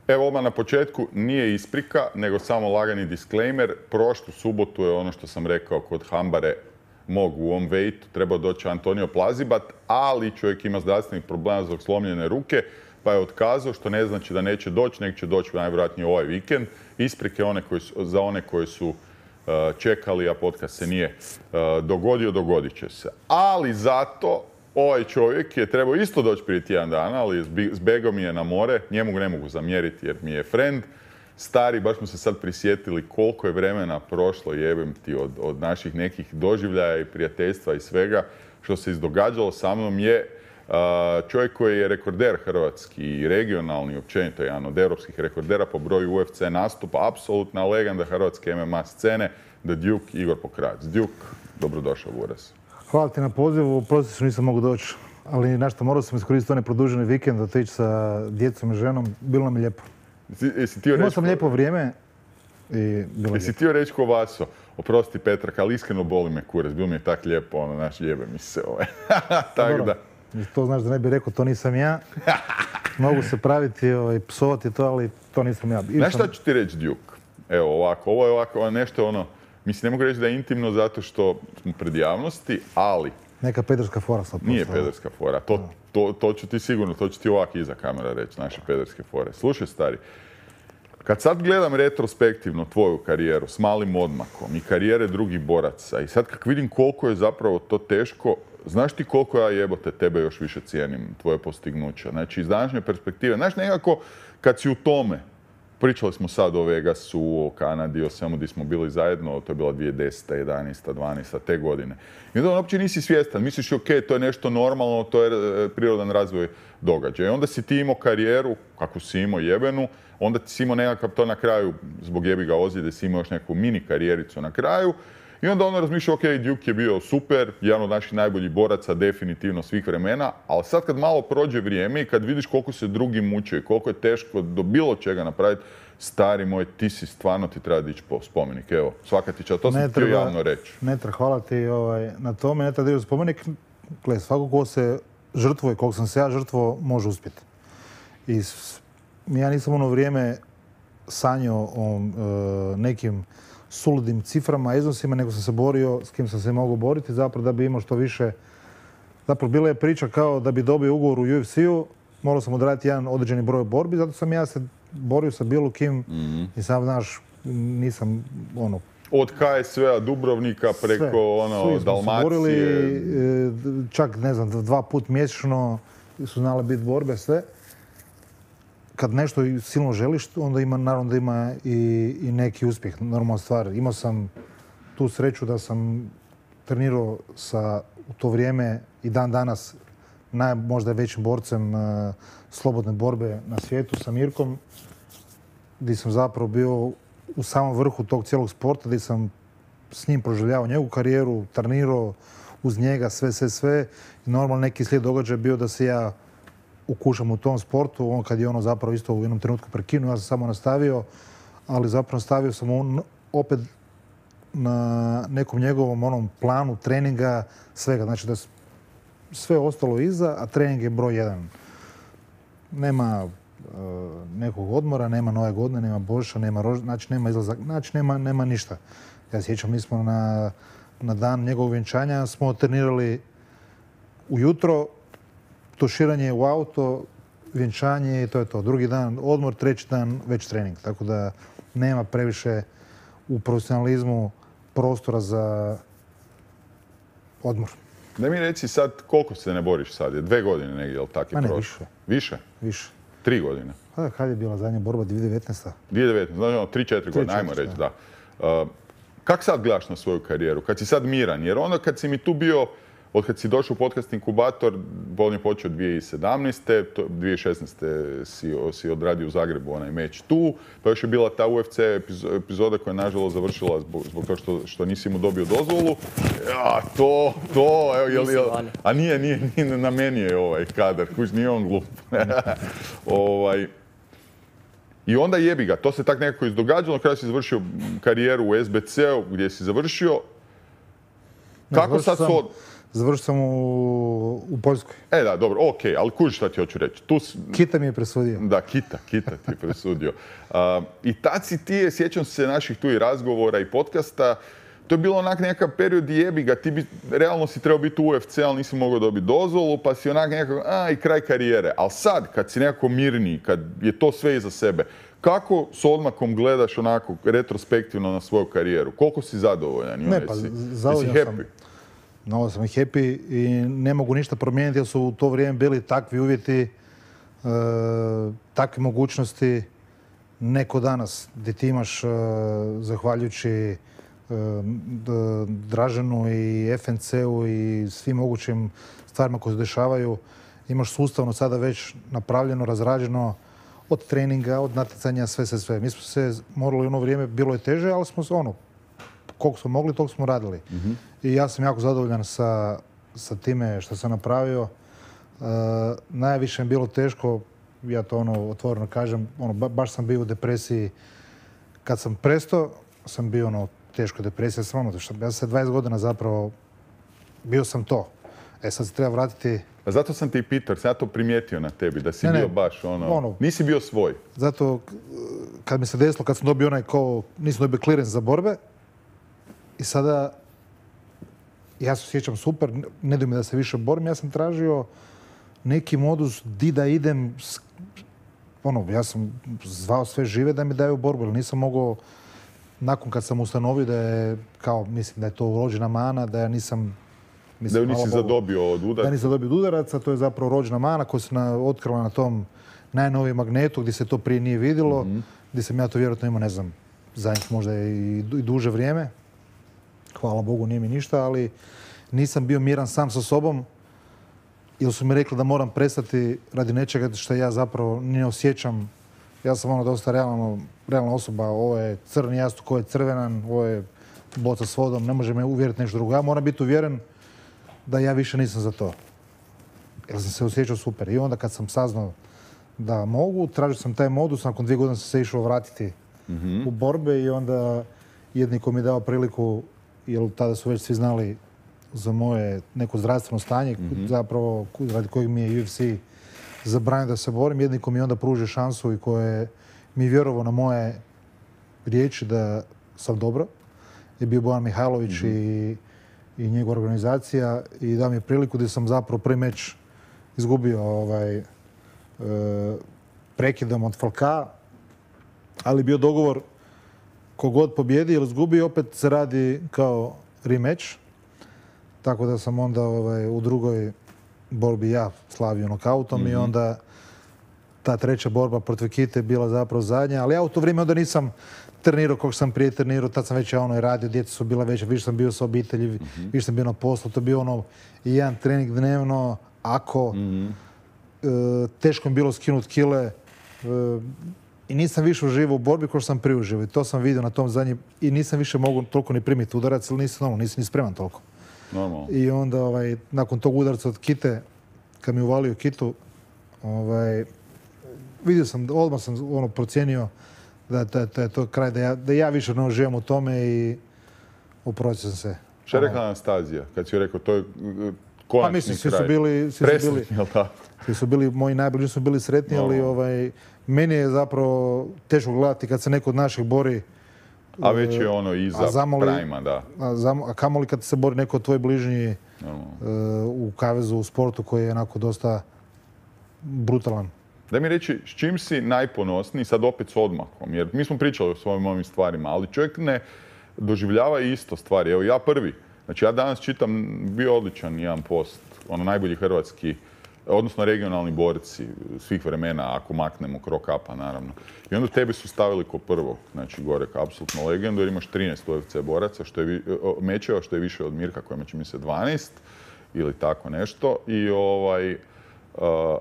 Evo odmah na početku, nije isprika, nego samo lagani disclaimer. Prošlu subotu je ono što sam rekao kod Hambare mog u ovom vejtu. Trebao doći Antonio Plazibat, ali čovjek ima zdravstvenih problema zbog slomljene ruke, pa je otkazao, što ne znači da neće doći, nego će doći najvjerojatnije ovaj vikend. Isprike za one koji su čekali, a podcast se nije dogodio, dogodit će se. Ali zato ovaj čovjek je trebao isto doći prije tjedan dana, ali zbegao mi je na more. Njemu ne mogu zamjeriti jer mi je friend. Stari, baš smo se sad prisjetili koliko je vremena prošlo, jebem ti, od naših nekih doživljaja i prijateljstva i svega što se izdogađalo sa mnom je čovjek koji je rekorder hrvatski i regionalni, općenito jedan od europskih rekordera po broju UFC nastupa, apsolutna legenda hrvatske MMA scene, The Duke, Igor Pokrojac. Duke, dobrodošao u Uraz. Hvala ti na pozivu, prosti što nisam mogu doći, ali nešto morao sam iskoristiti onaj produženi vikend, otići sa djecom i ženom, bilo nam je lijepo. Imao sam lijepo vrijeme i bilo jesi htio reći ko Vaso? Oprosti Petrak, ali iskreno boli me kurac, bilo mi je tak lijepo, naš jebe mi se tak da. To znaš da ne bih rekao, to nisam ja. Mogu se praviti i psovati to, ali to nisam ja. Znaš šta ću ti reći, Duke? Evo ovako, ovo je ovako nešto mislim, ne mogu reći da je intimno zato što smo pred javnosti, ali... Neka pederska fora sad. Nije pederska fora, to ću ti sigurno, to ću ti ovako iza kamera reći, naše pederske fore. Slušaj, stari, kad sad gledam retrospektivno tvoju karijeru s malim odmakom i karijere drugih boraca i sad kak vidim koliko je zapravo to teško, znaš ti koliko ja jebote tebe još više cijenim, tvoje postignuća. Znači, iz današnje perspektive, znaš, nekako kad si u tome, pričali smo sad o Vegasu, o Kanadi, o svemu gdje smo bili zajedno, to je bila 2010, 11, 12, te godine. I onda uopće nisi svjestan, misliš, ok, to je nešto normalno, to je prirodan razvoj događaja. I onda si ti imao karijeru, kako si imao jebenu, onda si imao nekakav to na kraju, zbog jebiga ozljede, si imao još neku mini karijericu na kraju. I onda ono razmišlja, ok, Duke je bio super, jedan od naših najboljih boraca, definitivno svih vremena, ali sad kad malo prođe vrijeme i kad vidiš koliko se drugi muče i koliko je teško do bilo čega napraviti, stari moj, ti si stvarno, ti treba dići po spomenik. Evo, svaka ti čast, to sam htio javno reći. Ne treba, hvala ti na tome, ne treba dići spomenik. Gle, svako ko se žrtvuje, koliko sam se ja žrtvo, može uspjeti. I ja nisam ono vrijeme sanjao o nekim suludim ciframa, iznosima, nego sam se borio s kim sam se mogao boriti, zapravo da bi imao što više. Zapravo bila je priča kao da bi dobio ugovor u UFC-u, morao sam odraditi jedan određeni broj borbi, zato sam ja se borio sa bilo kim i sam, znaš, nisam ono... Od KSV-a Dubrovnika preko Dalmacije. Borili, čak, ne znam, 2 puta mjesečno su znale biti borbe, sve. Kad nešto silno želiš, onda ima, naravno da ima i neki uspjeh, normalna stvar. Imao sam tu sreću da sam trenirao u to vrijeme i dan danas možda većim borcem slobodne borbe na svijetu sa Mirkom, gdje sam zapravo bio u samom vrhu tog cijelog sporta, gdje sam s njim proživljavao njegovu karijeru, trenirao uz njega sve. I normalno neki slijed događaja bio da se ja ukušam u tom sportu, on kad je ono zapravo isto u jednom trenutku prekinuo, ja sam samo nastavio, ali zapravo nastavio sam opet na nekom njegovom onom planu treninga, svega. Znači da sve ostalo iza, a trening je broj 1. Nema nekog odmora, nema nove godine, nema Božića, znači nema izlazak, znači nema ništa. Ja sjećam, mi smo na dan njegovog vjenčanja smo trenirali ujutro, tuširanje u auto, vjenčanje i to je to. Drugi dan odmor, treći dan već trening. Tako da nema previše u profesionalizmu prostora za odmor. Da mi reci sad koliko se ne boriš sad? Je 2 godine negdje, jel tako je prošlo? Više. Više? 3 godine? Kad je bila zadnja borba? 2019. 2019, znači 3-4 godine, ajmo reći, da. Kak sad gledaš na svoju karijeru? Kad si sad miran? Jer onda kad si mi tu bio, od kad si došao u podcast inkubator, on je počeo 2017. 2016. si odradio u Zagrebu onaj meč tu, pa još je bila ta UFC epizoda koja je nažalost završila zbog toga što nisi mu dobio dozvolu. Ja, a nije, na meni je ovaj kadar, kuć, nije on glup. I onda jebi ga, to se tak nekako izdogađalo, kada si završio karijeru u SBC-u gdje si završio. Kako sad Završio sam u Poljskoj. Da, dobro, okej, ali kuži šta ti hoću reći. Kita mi je presudio. Da, Kita ti je presudio. I tad si ti, sjećam se naših tu i razgovora i podcasta, to je bilo onak nekakav period jebi ga, ti bi, realno si trebao biti u UFC, ali nisi mogao dobiti dozvolu, pa si onak nekako, i kraj karijere. Ali sad, kad si nekako mirniji, kad je to sve iza sebe, kako s odmakom gledaš onako retrospektivno na svoju karijeru? Koliko si zadovoljan? Ne, pa zadovoljan sam. No, sam happy i ne mogu ništa promijeniti jer su u to vrijeme bili takvi uvjeti, takve mogućnosti. Neko danas gdje ti imaš, zahvaljujući Draženu i FNC-u i svim mogućim stvarima koje se dešavaju, imaš sustavno sada već napravljeno, razrađeno od treninga, od natjecanja, sve. Mi smo se morali u ono vrijeme, bilo je teže, ali smo se koliko smo mogli, toliko smo radili. I ja sam jako zadovoljan sa time što sam napravio. Najviše mi bilo teško, ja to otvoreno kažem, baš sam bio u depresiji. Kad sam prestao, sam bio teško depresija. Ja sam 20 godina zapravo, bio sam to. Sad se treba vratiti. Pa zato sam ti i pitao, sam ja to primijetio na tebi, da si bio baš nisi bio svoj. Zato kad mi se desilo, kad sam dobio nisam dobio clearance za borbe, i sada ja se osjećam super, ne daj mi da se više borim, ja sam tražio neki modus di da idem, ja sam zvao sve žive da mi daju borbu, ali nisam mogao, nakon kad sam ustanovio da je, mislim da je to rođena mana, da ja nisam... Da ju nisi zadobio od udaraca? Da nisam zadobio od udaraca, to je zapravo rođena mana koja se otkrila na tom najnovijem magnetu gdje se to prije nije vidjelo, gdje sam ja to vjerojatno imao, ne znam, zadnjih možda i duže vrijeme. Hvala Bogu, nije mi ništa, ali nisam bio miran sam sa sobom, jer su mi rekli da moram prestati radi nečega što ja zapravo ne osjećam. Ja sam dosta realna osoba, ovo je crni jastuk, ovo je crvenan, ovo je boca s vodom, ne može me uvjeriti nešto drugo. Ja moram biti uvjeren da ja više nisam za to. Jer sam se osjećao super. I onda kad sam saznao da mogu, tražio sam taj modus, nakon 2 godine sam se išao vratiti u borbe i onda jedniko mi je dao priliku, jer tada su već svi znali za moje neko zdravstveno stanje, zapravo radi kojeg mi je UFC zabranio da se borim. Jedniko mi je onda pružio šansu i koje mi je vjerovao na moje riječi da sam dobro. Je bio Bojan Mihajlović i njegova organizacija i dao mi je priliku gdje sam zapravo prvi meč izgubio prekidom od Falka, ali bio dogovor kogod pobjedi ili izgubi, opet se radi kao rematch. Tako da sam onda u drugoj borbi ja slavio nokautom i onda ta treća borba protiv Kite je bila zapravo zadnja. Ali ja u to vrijeme onda nisam trenirao kako sam prije trenirao, tad sam već radio, djeca su bila veća, više sam bio sa obitelji, više sam bio na poslu, to je bio jedan trening dnevno, teško mi bilo skinuti kile i nisam više uživao u borbi kao što sam prije uživao. I to sam vidio na tom zadnjem i nisam više mogao toliko ni primiti udarac, ali nisam ni spreman toliko. Normalno. I onda nakon tog udarca od Kite, kad mi uvalio Kitu, vidio sam, odmah sam procijenio da je to kraj, da ja više ne uživam u tome i oprostio sam se. Šta je rekla Anastazija kad si joj rekao, to je konačni kraj? Presretni, jel tako? Svi su bili, moji najbliži su bili sretni, ali meni je zapravo teško gledati kad se neko od naših bori. A već je iza prajma, da. A kamoli kad se bori neko od tvoji bližnji u kavezu, u sportu koji je onako dosta brutalan. Daj mi reći, s čim si najponosniji, sad opet s odmakom, jer mi smo pričali o svojim ovim stvarima, ali čovjek ne doživljava isto stvari. Evo ja prvi, znači ja danas čitam, bio odličan jedan post, najbolji hrvatski, odnosno regionalni borci svih vremena, ako maknemo Krokapa, naravno. I onda tebe su stavili ko prvog, znači gore kao apsolutno legendu, jer imaš 13 UFC boraca, mečeva, što je više od Mirka, koja ima, čini mi se, 12 ili tako nešto. I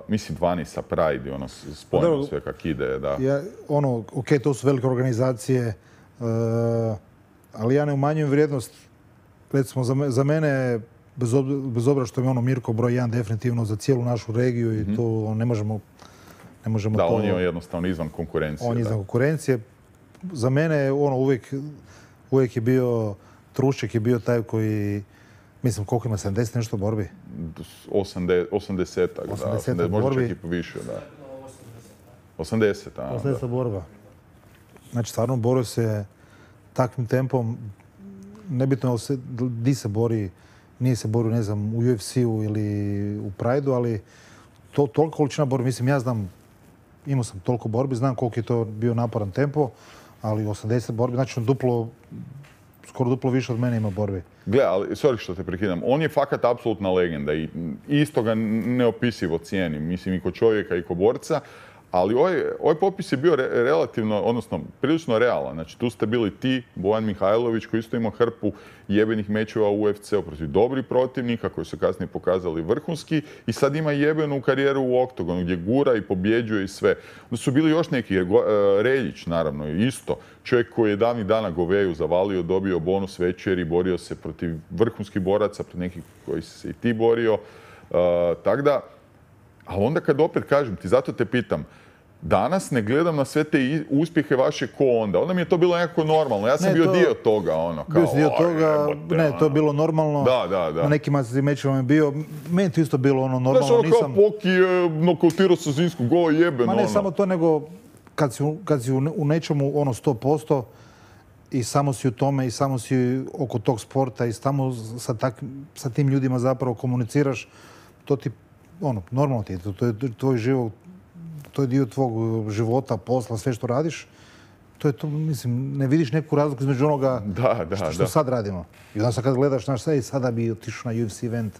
mislim 12 sa Pride, spojeno sve kak ide, da. To su velike organizacije, ali ja ne umanjujem vrijednost. Recimo, za mene, bez obzira što je Mirko broj 1 definitivno za cijelu našu regiju i to ne možemo da, to... on je jednostavno izvan konkurencije. On je izvan konkurencije. Za mene uvijek je bio, Trušček je bio taj koji Mislim, koliko ima, 70 nešto borbi? 80-ak, da. 80 možda borbi. čak i više, da. 80, a. 80 borba. Znači, stvarno borio se takvim tempom. Nebitno di se bori, nije se borio, ne znam, u UFC-u ili u Pride-u, ali toliko količina borbi. Mislim, ja znam, imao sam toliko borbi, znam koliko je to bio naporan tempo, ali 80 borbi, znači skoro duplo više od mene ima borbi. Gle, ali, sorry što te prekidam, on je fakat apsolutna legenda i isto ga neopisivo cijenim, mislim i ko čovjeka i ko borca, ali ovaj popis je bio relativno, odnosno prilično realan. Znači tu ste bili ti, Bojan Mihajlović koji isto imao hrpu jebenih mečeva u UFC-u protiv dobrih protivnika koji su kasnije pokazali vrhunski i sad ima jebenu karijeru u oktogonu gdje gura i pobjeđuje i sve. Onda su bili još neki, Reljić naravno isto, čovjek koji je davnih dana Goveju zavalio, dobio bonus večeri, borio se protiv vrhunskih boraca, protiv nekih koji si se i ti borio. Tako da, ali onda kad opet kažem ti, zato te pitam, danas ne gledam na sve te uspjehe vaše ko onda. Onda mi je to bilo nekako normalno. Ja sam bio dio toga, ono, kao... Bio si dio toga, ne, to je bilo normalno. Da. Na nekim mečevama je bio. Meni to isto bilo ono normalno. Znaš, ono kao Poki je nokautirao sa Zinsku, go jeben, Ma ne samo to, nego kad si u nečemu ono 100% i samo si u tome i samo si oko tog sporta i samo sa tim ljudima zapravo komuniciraš, to ti, ono, normalno ti je. To je tvoj život. To je dio tvog života, posla, sve što radiš. To je to, mislim, ne vidiš neku razliku između onoga što sad radimo. I onda sad kad gledaš, znaš, sada bi otišao na UFC event,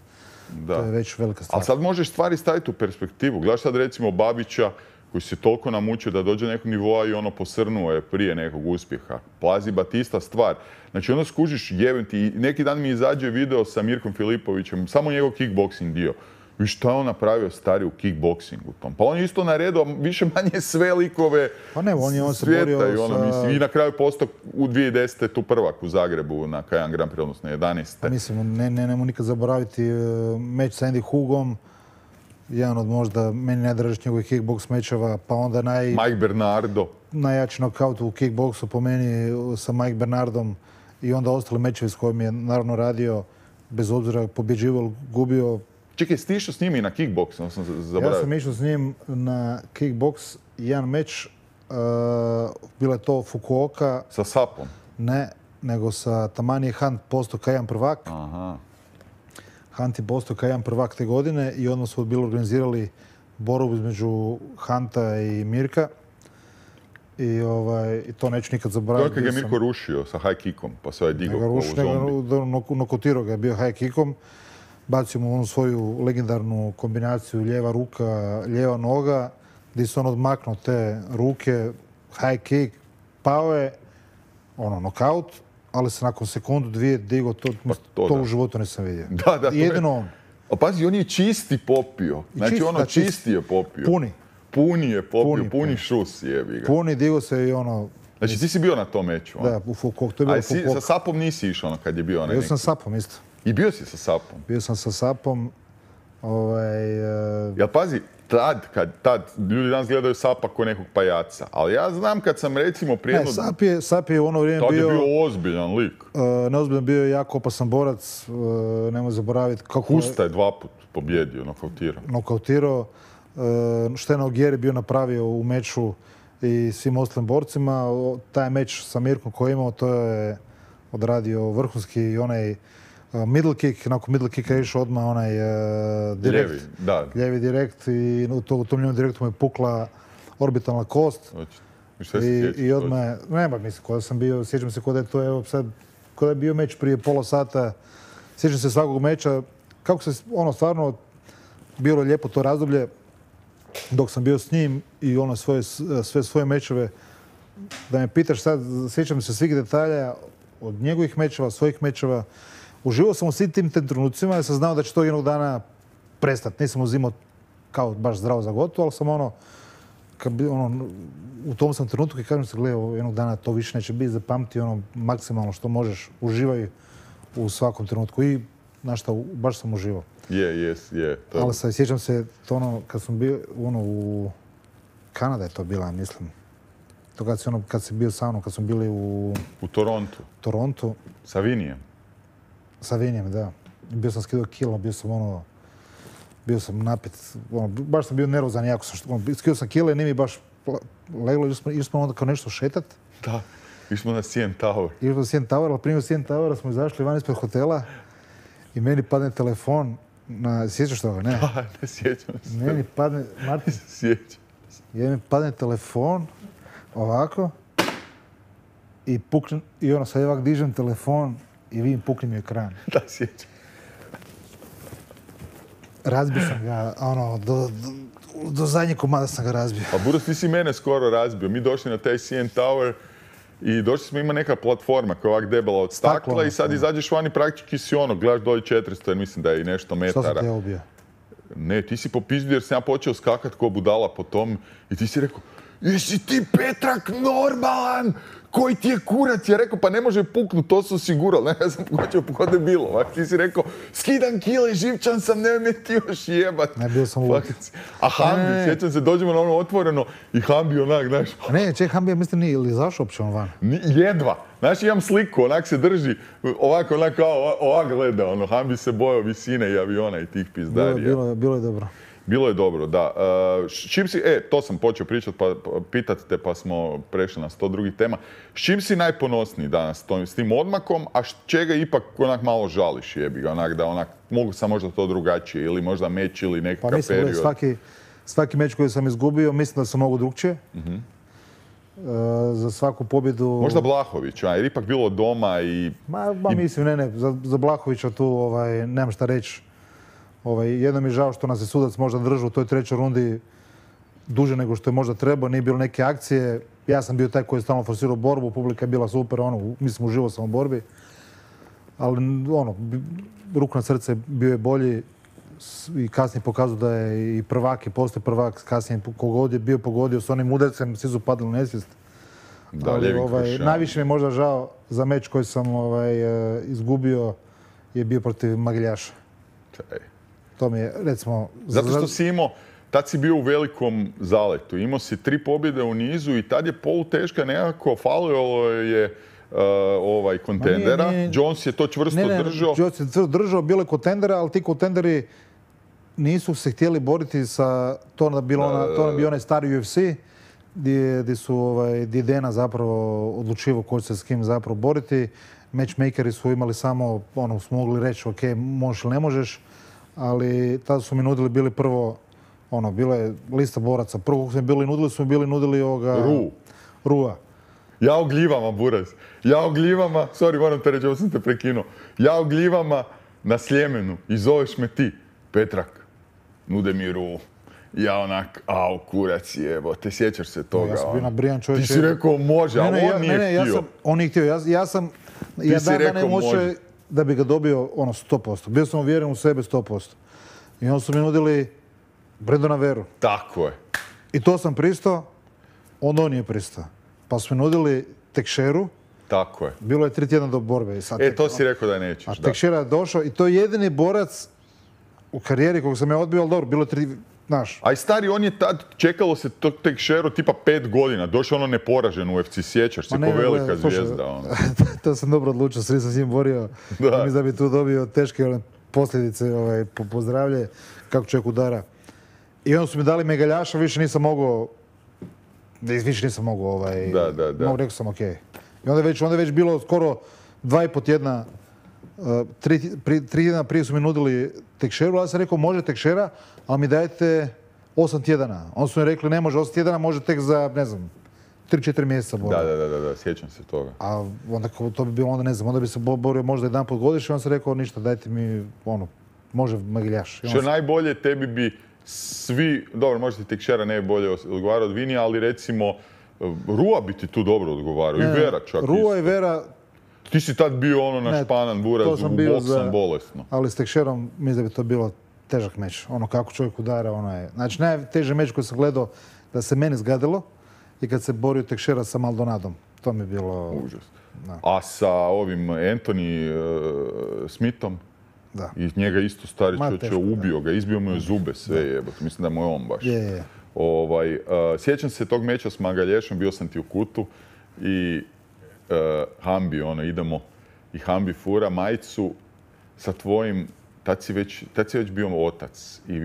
to je već velika stvar. Ali sad možeš stvari staviti u perspektivu. Gledaš sad recimo Babića, koji se toliko namučio da dođe nekog nivoa i ono posrnuo je prije nekog uspjeha. Plazi Batista stvar. Znači onda skužiš jebem ti. Neki dan mi izađe video sa Mirkom Filipovićem, samo njegov kickboxing dio. I šta je on napravio stari u kickboksingu tom? Pa on je isto naredio više manje sve likove svijeta i ono, mislim, i na kraju postao u 2010. tu prvak u Zagrebu na Kajan Grand Prix, odnosno 11. Pa mislim, nemo nikad zaboraviti meč sa Andy Hugom, jedan od možda meni najdražih njegovih kickboks mečeva, pa onda Mike Bernardo. Najjači nokaut u kickboksu po meni sa Mike Bernardom i onda ostali mečevi s kojim je naravno radio, bez obzira pobjeđivao, gubio. Čekaj, si ti išao s njim i na kickboks? Ja sam išao s njim na kickboks, jedan meč, bila je to Fukuoka. Sa Sapom? Ne, nego sa Tamanije Hunt, postao K1 prvak. Aha. Hunt je postao K1 prvak te godine i odmah su bili organizirali borbu između Hunta i Mirka. I to neću nikad zaboraviti. To je kad ga Mirko rušio sa high kickom, pa se ovaj digao kao zombi. Nokotirao ga je bio high kickom. Bacio mu onu svoju legendarnu kombinaciju lijeva ruka, lijeva noga, gdje se on odmaknuo te ruke, high kick, pao je, nokaut, ali se nakon sekundu, dvije digao, to u životu nisam vidio. Da, jedino on. A pazi, on je čisti popio. Znači čisti je popio. Puni je popio, puni šus jebi ga. Puni, digao se i ono... Znači ti si bio na tom meču? Da, to je bilo sa Sapom nisi išao kad je bio onaj neki? Bio sam sa Sapom isto. I bio si sa Sapom? Bio sam sa Sapom. Jel pazi, tad ljudi danas gledaju Sapa kao nekog pajaca, ali ja znam kad sam recimo prije... Ne, Sap je u ono vrijeme bio... Tad je bio ozbiljan lik. Neozbiljan, bio je jako opasan borac, nemoj zaboraviti kako... Kusta je 2 put pobjedio, nokautirao. Što je Nogueira bio napravio u meču i svim ostalim borcima. Taj meč sa Mirkom koji je imao, to je odradio vrhunski i onaj middle kick. Nakon middle kicka je išao odmah onaj direkt. Ljevi direkt i u tom ljevom direktu mu je pukla orbitalna kost. I odmah je, nema mislim, kada sam bio, sjećam se kada je to, evo sad, kada je bio meč prije pola sata, sjećam se svakog meča, kako se, stvarno, bilo lijepo to razdoblje, dok sam bio s njim i sve svoje mečeve, da me pitaš sad, sjećam se svih detalja od njegovih mečeva, svojih mečeva. Uživao sam u svim tim trenucima jer sam znao da će to jednog dana prestati. Nisam uzimao kao baš zdravo za gotovo, ali sam u tom sam trenutku i kažem se, gledaj, jednog dana to više neće biti, zapamti maksimalno što možeš, uživaj u svakom trenutku. I, znaš šta, baš sam uživao. Je. Ali sjećam se to kad sam bio u Kanada je to bila, mislim. To kad si bio sa mnom, kad smo bili u Torontu. Torontu. Sa Vinijem. Sa Vinijem, da. bio sam skidao kilo, bio sam napit, baš sam bio nervozan jako sam, skidao sam kile, nije mi baš leglo, išli smo onda kao nešto šetat. Da, išli smo na CN Tower. Išli smo na CN Tower, ali prije CN Towera smo izašli van ispred hotela i meni padne telefon, sjećaš toga, ne? Da, ne sjećam se. Meni padne, Martin, Sjećam. mi padne telefon, ovako, i pukne, i ono, sad ovak dižem telefon i vidim pukne mi ekran. Da, sjećam. Razbio sam ga, ono, do zadnjeg komada sam ga razbio. Pa Buras, ti si mene skoro razbio. Mi došli na taj CN Tower i došli smo, ima neka platforma koja je ovak debela od stakla i sad izađeš vani praktički si ono, gledaš dolje 400 jer mislim da je i nešto metara. Što sam te ubio? Ne, ti si popizdio jer sam ja počeo skakat ko budala po tom i ti si rekao, jesi ti Petrak normalan? Koji ti je kurac? Ja rekao, pa ne može puknut, to su osigurali. Ne, ja sam počeo kod je bilo. Ti si rekao, skidam kile, živčan sam, nemoj me ti još jebat. Ne, bio sam lud. A Hambi, sjećam se, dođemo na ono otvoreno i Hambi onak, znaš... Ne, Hambi, ja mislim, nije ili zašao uopće on van? Jedva. Znaš, imam sliku, onak se drži, ovako, onak kao, ovak gleda, ono, Hambi se bojao visine i aviona i tih pizdarija. Bilo je dobro. Bilo je dobro, da. S čim si, to sam počeo pričati, pitat te pa smo prešli na 100 drugih tema. S čim si najponosniji danas s tim odmakom, a čega ipak onak malo žališ jebi ga, onak da onak, mogu sam možda to drugačije ili možda meč ili nekakav period? Pa mislim, svaki meč koji sam izgubio, mislim da sam mogu drugčije. Za svaku pobjedu... Možda Blahovića, jer ipak bilo doma i... Mislim, ne, za Blahovića tu nemam šta reći. Jedno mi je žao što nas je sudac možda držao u toj trećoj rundi duže nego što je možda trebao, nije bilo neke akcije. Ja sam bio taj koji je stalno forsirao borbu, publika je bila super, mislim, uživo sam u borbi. Ali, ruku na srce bio je bolji i kasnije pokazao da je i prvak i postoje prvak, kasnije kogod je bio pogodio s onim udarcem, svi su padali u nesvijest. Najviše mi je možda žao za meč koji sam izgubio je bio protiv Mageljaša. To mi je, recimo... Zato što si imao, tad si bio u velikom zaletu. Imao si 3 pobjede u nizu i tad je poluteška nekako, falilo je kontendera. Jones je to čvrsto držao. Jones je čvrsto držao, bilo je kontendera, ali ti kontenderi nisu se htjeli boriti sa... To je bio onaj stari UFC, gdje je Dana zapravo odlučivao ko će se s kim zapravo boriti. Matchmakeri su imali samo, su mogli reći, ok, možeš ili ne možeš. Ali tada su mi nudili bili prvo, bila je lista boraca. Prvo kako smo bili nudili Rua. Ja o gljivama, Buraz. Ja o gljivama, sorry, moram te reći, ovo sam te prekinuo. Ja o gljivama na Sljemenu i zoveš me ti, Petrak, nude mi Ru. Ja onak, kurac jebo, te sjećaš se toga? Ja sam bio nabrijan čovječe. Ti si rekao može, a on nije htio. On nije htio, ja dan ne može da bi ga dobio 100%. Bio sam uvjeren u sebe 100%. I onda su mi nudili Brendona Veru. Tako je. I to sam pristao, onda on nije pristao. Pa su mi nudili Tekšeru. Tako je. Bilo je 3 tjedna do borbe. To si rekao da nećeš, a Tekšera je došao i to je jedini borac u karijeri kog sam ja odbio, ali dobro, bilo je 3, znaš. A i stari, on je tad, čekalo se tog Tekšeru tipa 5 godina, došao neporažen u UFC, sjećaš se, ko velika zvijezda. To sam dobro odlučio, svi sam s njim borio. Mislim da bi tu dobio teške posljedice po zdravlje, kako čovjek udara. I onda su mi dali Megaljaša, više nisam mogao, rekao sam ok. I onda je već bilo skoro 2,5 tjedna, 3 tjedna prije su mi nudili Tekšeru, ali sam rekao može Tekšera, ali mi dajete 8 tjedana. Onda su mi rekli ne može 8 tjedana, može tek za, ne znam, 3-4 mjeseca borba. Da, sjećam se toga. A onda to bi bilo, onda bi se borio možda jedan put godišnje, onda sam rekao ništa, dajte mi, može Mageljaš. Što najbolje, tebi bi svi, dobro, možda ti Tekšera ne bi bolje odgovarao od Vinija, ali recimo Rua bi ti tu dobro odgovarao, i Vera čak isto. Rua i Vera... Ti si tad bio na španan Buraz, u bok sam bolesno. Ali s Tekšerom mislim da bi to bilo težak meč. Kako čovjek udara, Znači, najteži meč koji sam gledao da se meni zgadilo i kad se borio Tekšera sa Maldonadom. To mi je bilo... Užas. A sa ovim Anthony Smithom? Da. I njega isto stari čovječe ubio ga, izbio mu je zube sve jebote. Mislim da mu je on baš. Sjećam se tog meča s Magalješom, bio sam ti u kutu i Hambi, idemo i Hambi fura majicu sa tvojim, tad si već bio otac i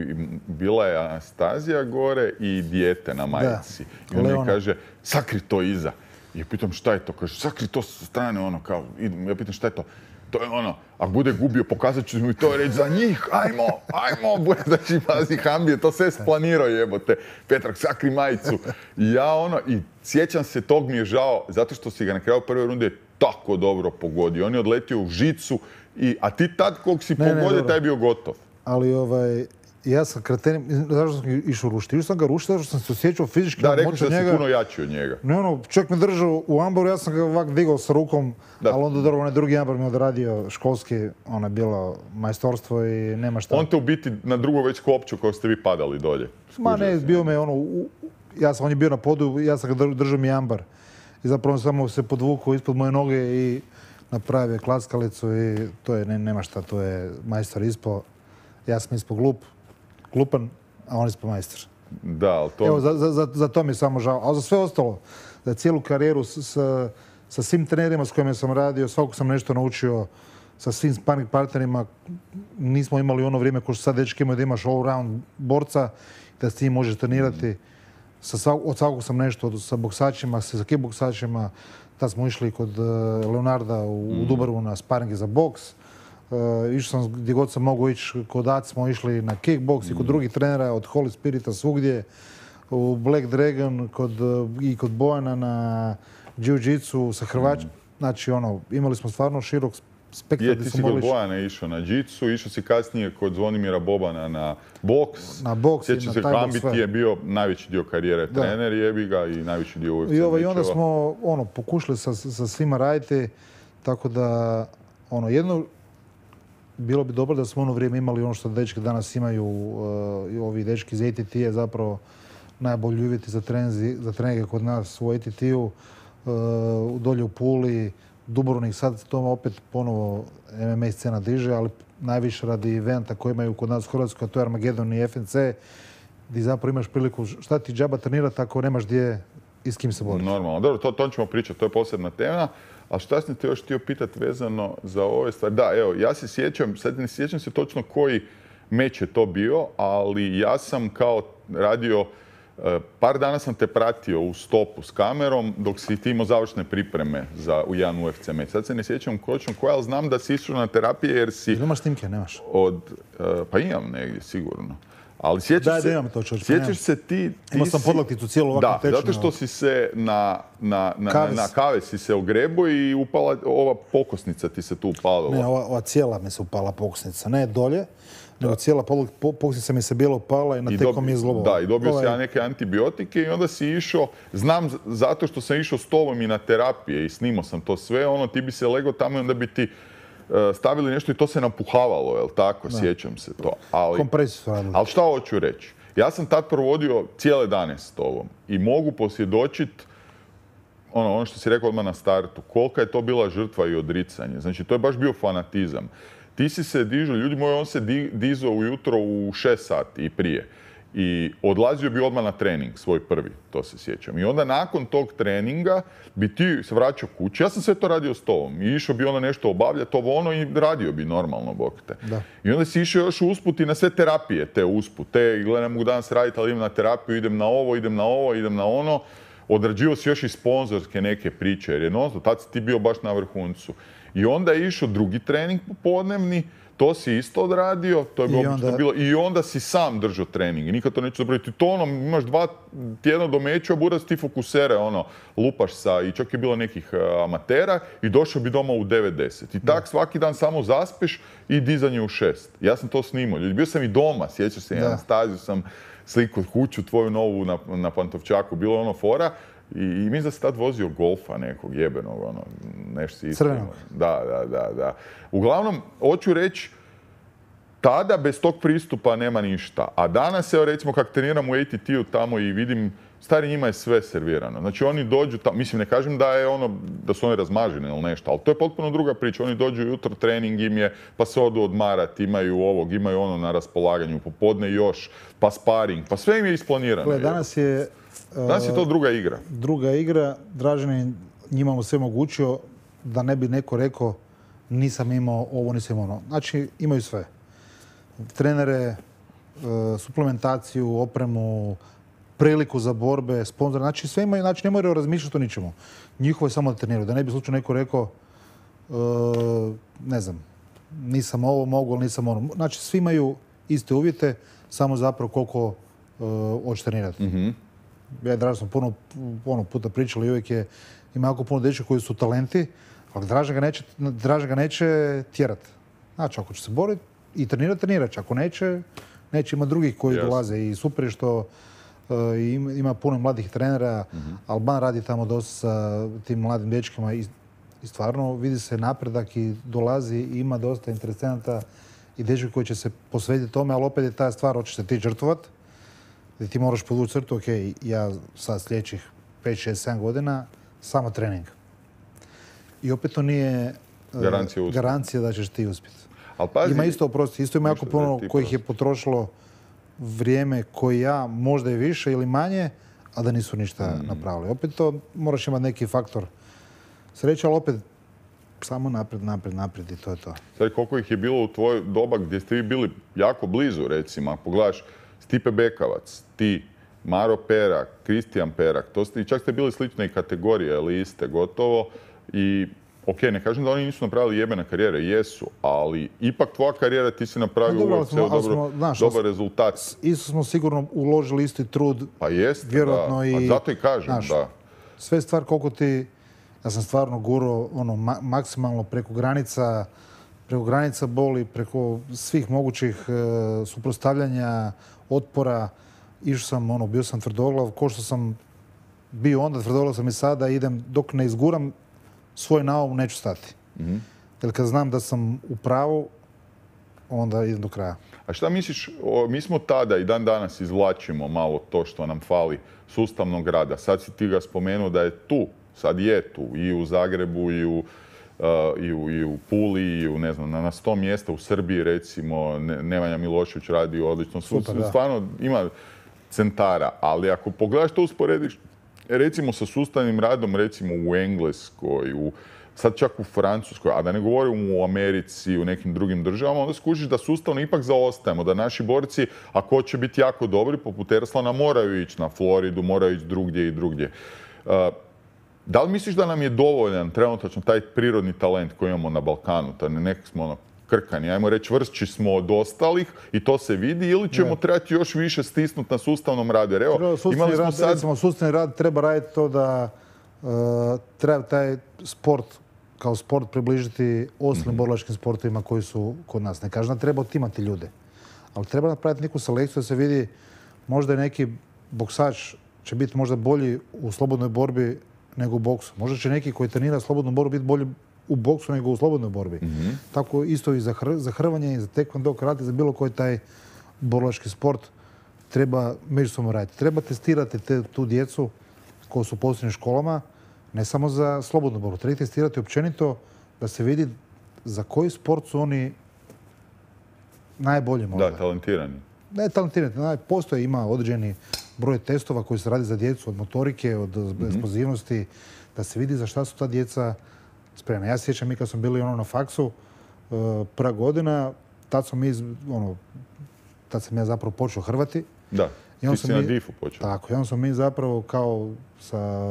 bila je Anastazija gore i dijete na majici. I on mi kaže, sakri to iza. I ja pitam šta je to? Kaže, sakri to sa strane, ono, kao, ja pitam šta je to? To je ono, ako bude gubio, pokazat ću mi to reći za njih, ajmo, znači, pazi, Hambi je to sve splanirao, jebote. Petrok, sakri majicu. I ja i sjećam se, tog mi je žao, zato što si ga na kraju prve runde tako dobro pogodio. On je odletio u žicu, a ti tad kog si pogodio, taj je bio gotov. Ali ja sam kretenim, zašto sam išao rušiti? Išao sam ga rušiti, zato što sam se osjećao fizički moć od njega. Da, rekao da si puno jači od njega. Ne, čovjek me držao u ambaru, ja sam ga ovak digao sa rukom, ali onda dobro, onaj drugi ambar mi odradio školski, ono je bilo majstorstvo i nema šta. On te u biti na drugo već kopču kao ste vi padali dolje. Ma ne, bio me on je bio na podu, ja sam ga držao mi ambar. I zapravo samo se podvukao ispod moje noge i napravio klackalicu i to je, nema šta, to je majstor ispao. Ja sam ispao glupan, a on ispao majstor. Da, ali to... Evo, za to mi je samo žao. Ali za sve ostalo, za cijelu karijeru sa svim trenerima s kojima sam radio, svakog sam nešto naučio, sa svim sparring partnerima. Nismo imali ono vrijeme ko što sad dečki imaju da imaš all-round borca, da s tim možeš trenirati. Od svakog sam nešto, sa boksačima, sa kickboksačima. Tad smo išli kod Leonarda u Dubaru na sparinge za boks. Išao sam gdje god sam mogao ići, kod Ac smo išli na kickboks i kod drugih trenera, od Holy Spirita svugdje, u Black Dragon i kod Bojana na jiu-jitsu sa Hrvačima. Znači, imali smo stvarno širok spektar. Ti si kod Bojana išao na jiu-jitsu, išao si kasnije kod Zvonimira Bobana na boks. Na boks i na taj boks. Hambi ti je bio najveći dio karijere trener, jebi ga, i najveći dio UFC mečeva. I onda smo pokušali sa svima raditi, tako da jedno bilo bi dobro da smo ono vrijeme imali ono što dečki danas imaju, ovi dečki iz ATT-a zapravo najbolji uvjeti za treninge kod nas u ATT-u, dolje u Puli, Dubrovnik, sad to opet ponovo MMA scena diže, ali najviše radi eventa koji imaju kod nas u Hrvatskoj, a to je Armageddon i FNC, gdje zapravo imaš priliku šta ti džaba trenirati ako nemaš gdje i s kim se boriti. Normalno, dobro, to ćemo pričati, to je posebna tema. A šta sam te još htio pitati vezano za ove stvari? Da, evo, ja se sjećam, sad ne sjećam se točno koji meč je to bio, ali ja sam kao radio, par dana sam te pratio u stopu s kamerom dok si ti imao završne pripreme za jedan UFC meč. Sad se ne sjećam točno koja, ali znam da si išao na terapije jer si... Nemaš snimke, nemaš? Pa imam negdje, sigurno. Ali sjećaš se ti... Imao sam podlakticu cijelu ovako tečnu. Da, zato što si se na kave si se ogrebo i upala, ova pokosnica ti se tu upalila. Ne, ova cijela mi se upala pokosnica. Ne dolje, nego cijela pokosnica mi se bilo upala i na tekom mi je zglobala. Da, i dobio si ja neke antibiotike i onda si išao, znam zato što sam išao s tobom i na terapije i snimao sam to sve, ti bi se legao tamo i onda bi ti stavili nešto i to se napuhavalo, jel tako? Sjećam se to. Kompresiju su radili. Ali šta hoću reći? Ja sam tad provodio cijele dane s tobom i mogu posvjedočiti ono što si rekao odmah na startu, kolika je to bila žrtva i odricanje. Znači, to je baš bio fanatizam. Ti si se dižao, ljudi moji, on se dizao ujutro u 6 sati i prije. I odlazio bi odmah na trening, svoj prvi, to se sjećam. I onda nakon tog treninga bi ti se vraćao kući. Ja sam sve to radio s tobom. I išao bi nešto obavljati, i radio bi normalno, bok te. Da. I onda si išao još usput i na sve terapije, te uspute. I gledaj, ne mogu danas raditi, ali idem na terapiju, idem na ovo, idem na ono. Odrađivao si još i sponzorske neke priče, jer tad si ti bio baš na vrhuncu. I onda je išao drugi trening popodnevni, to si isto odradio, to je bilo i onda si sam držao trening i nikad to neću zaboraviti. To imaš 2 tjedna do meča, buraz ti fokusere, lupaš i čak je bilo nekih amatera i došao bi doma u 9-10. I tak svaki dan samo zaspeš i dizanje u 6. Ja sam to snimao. Bio sam i doma, sjećaš se, Anastaziju sam sliku kuću tvoju novu na Pantovčaku, bilo fora. I mislim da si tad vozio Golfa nekog jebenog, nešto si isto. Crvenog. Da. Uglavnom, hoću reći, tada bez tog pristupa nema ništa. A danas, evo recimo, kak treniram u ATT-u tamo i vidim, stari njima je sve servirano. Znači oni dođu tamo, mislim ne kažem da su oni razmaženi ili nešto, ali to je potpuno druga priča. Oni dođu jutro, trening im je, pa se odu odmarati, imaju ovog, imaju na raspolaganju, popodne još, pa sparing, pa sve im je isplanirano. Danas je to druga igra. Druga igra. Dražen je njima mu sve omogućio da ne bi neko rekao nisam imao ovo, nisam imao ono. Znači, imaju sve. Trenere, suplementaciju, opremu, priliku za borbe, sponzore, znači sve imaju, znači ne moraju razmišljati o ničemu. Njihovo je samo da treniraju. Da ne bi slučajno neko rekao, ne znam, nisam ovo mogu, ali nisam ono. Znači svi imaju iste uvjete, samo zapravo koliko hoće trenirati. Ja i Draža smo puno puta pričali i uvijek ima jako puno dečaka koji su talenti, ali Draža ga neće tjerati. Znači, ako će se boriti i trenirat će. Ako neće, ima drugih koji dolaze i super je što ima puno mladih trenera. Alban radi tamo dosta sa tim mladim dečkima i stvarno vidi se napredak i dolazi i ima dosta interesenata i dečki koji će se posvetiti tome, ali opet je ta stvar, hoćeš se ti žrtvovat, gdje ti moraš podvući crtu, ok, ja sad sljedećih 5, 6, 7 godina samo trening. I opet to nije garancija da ćeš ti uspjeti. Ima isto ima jako puno kojih je potrošilo vrijeme koji ja, možda i više ili manje, a da nisu ništa napravili. Opet to moraš imati neki faktor sreće, ali opet samo naprijed i to je to. Sad, koliko ih je bilo u tvoj doba gdje ste vi bili jako blizu, recimo, ako pogledaš Stipe Bekavac, ti, Maro Perak, Kristijan Perak, čak ste bili slične kategorije, ali iste gotovo. I, ok, ne kažem da oni nisu napravili jebene karijere, jesu, ali ipak tvoja karijera, ti si napravio dobar rezultat. Isto smo sigurno uložili isti trud. Pa jeste, vjerojatno da. Zato i kažem, da. Sve stvar koliko ti, ja sam stvarno gurao maksimalno preko granica boli, preko svih mogućih suprotstavljanja, otpora. Išao sam, bio sam tvrdoglav, ko što sam bio onda, tvrdoglav sam i sada, idem dok ne izguram svoj naum, neću stati. Jer kad znam da sam u pravu, onda idem do kraja. A šta misliš, mi smo tada i dan danas izvlačimo malo to što nam fali sustavnog rada. Sad si ti ga spomenuo da je tu, sad je tu, i u Zagrebu, i u Puli, i ne znam, na 100 mjesta u Srbiji, recimo, Nemanja Milošević radi odlično. Stvarno ima centara, ali ako pogledaš to usporediš, recimo sa sustavnim radom, recimo u Engleskoj, sad čak u Francuskoj, a da ne govorim u Americi, u nekim drugim državama, onda skužiš da sustavno ipak zaostajemo, da naši borci, ako hoće biti jako dobri, poput Erslana, moraju ići na Floridu, moraju ići drugdje i drugdje. Da li misliš da nam je dovoljan trenutačno taj prirodni talent koji imamo na Balkanu, da nekak smo krkani, ajmo reći vršći smo od ostalih i to se vidi, ili ćemo trebati još više stisnuti na sustavnom radu? Jer evo, imali smo sad... Recimo, sustavni rad treba raditi to da treba taj sport kao sport približiti ostalim borilačkim sportovima koji su kod nas. Ne kažem da treba otimati ljude, ali treba napraviti neku selekciju da se vidi možda i neki boksač će biti možda bolji u slobodnoj borbi nego u boksu. Možda će neki koji trenira slobodnu borbu biti bolji u boksu nego u slobodnoj borbi. Tako isto i za hrvanje, i za tekvando, karate, za bilo koji taj borilački sport treba međusobno raditi. Treba testirati tu djecu koja su u posebnim školama, ne samo za slobodnu borbu. Treba testirati općenito da se vidi za koji sport su oni najbolji možda. Da, talentirani. Ne talentirani. Postoje, ima određeni broj testova koji se radi za djecu, od motorike, od eksplozivnosti, da se vidi za šta su ta djeca spremna. Ja se sjećam, mi kad smo bili na faksu, prva godina, tad sam ja zapravo počeo hrvati. Da, ti si na DIF-u počeo. Tako, i onda smo mi zapravo kao sa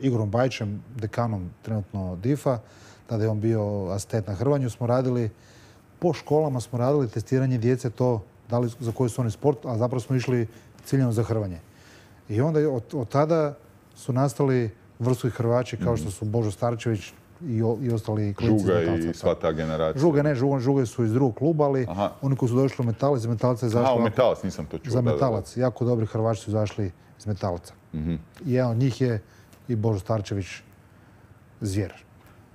Igorom Bajićem, dekanom trenutno DIF-a, tada je on bio asistent na hrvanju, smo radili, po školama smo radili testiranje djece to, da li za koji su oni sport, a zapravo smo išli ciljano za hrvanje. I onda od tada su nastali vrstovi Hrvači kao što su Božo Starčević i ostali klinci iz Metalca. Žuga i sva ta generacija. Žuge su iz drugog kluba, ali oni koji su došli u Metalac, iz Metalca je zašli... u Metalac, nisam to čuo. Za Metalac. Jako dobri Hrvači su izašli iz Metalca. I jedan od njih je i Božo Starčević zvijer.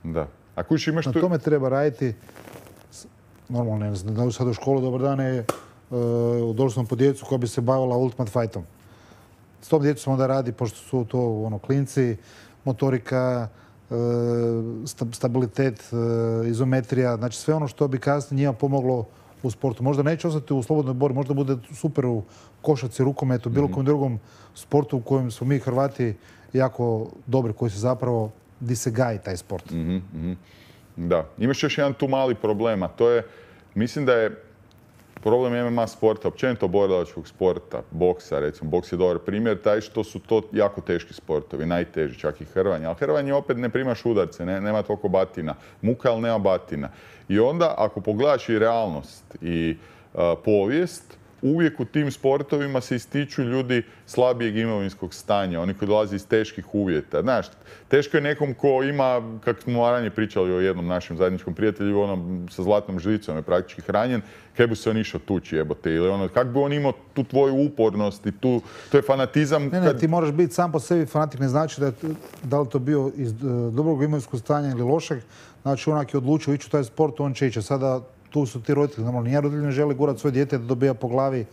Da. A kući imaš na tome treba raditi. Normalno, ne znam, da sad u školu, dobar dan, došli smo po djecu koja bi se bavila Ultimate Fightom. S tom djecom onda radi, pošto su to klinci, motorika, stabilitet, izometrija, znači sve ono što bi kasnije njima pomoglo u sportu. Možda neće ostati u slobodnoj borbi, možda bude super u košarci, rukometu, bilo kojem drugom sportu u kojem smo mi Hrvati jako dobri, koji se zapravo, di se gaji taj sport. Da, imaš još jedan tu mali problem, a to je, mislim da je problem MMA sporta, općenito borilačkog sporta, boksa, recimo, boks je dobar primjer, taj što su to jako teški sportovi, najteži, čak i hrvanje. Ali hrvanje opet ne primaš udarce, nema toliko batina. Muka, ali nema batina. I onda, ako pogledaš i realnost i povijest, uvijek u tim sportovima se ističu ljudi slabijeg imovinskog stanja, oni koji dolaze iz teških uvjeta. Znaš, teško je nekom ko ima, kako smo ranije pričali o jednom našem zajedničkom prijatelju, onom sa zlatnom žlicom je praktički hranjen, kaj bi se on išao tući, jebote, ili ono, kako bi on imao tu tvoju upornost i to je fanatizam. Ne, ti moraš biti sam po sebi fanatik, ne znači da li to bio iz dobrog imovinskog stanja ili lošeg, znači onak je odlučio ići u taj sport, on će ići. Sada tu su ti roditelji, normalno, nijedan roditelj ne želi gurati svoje dijete da dobija po glavi.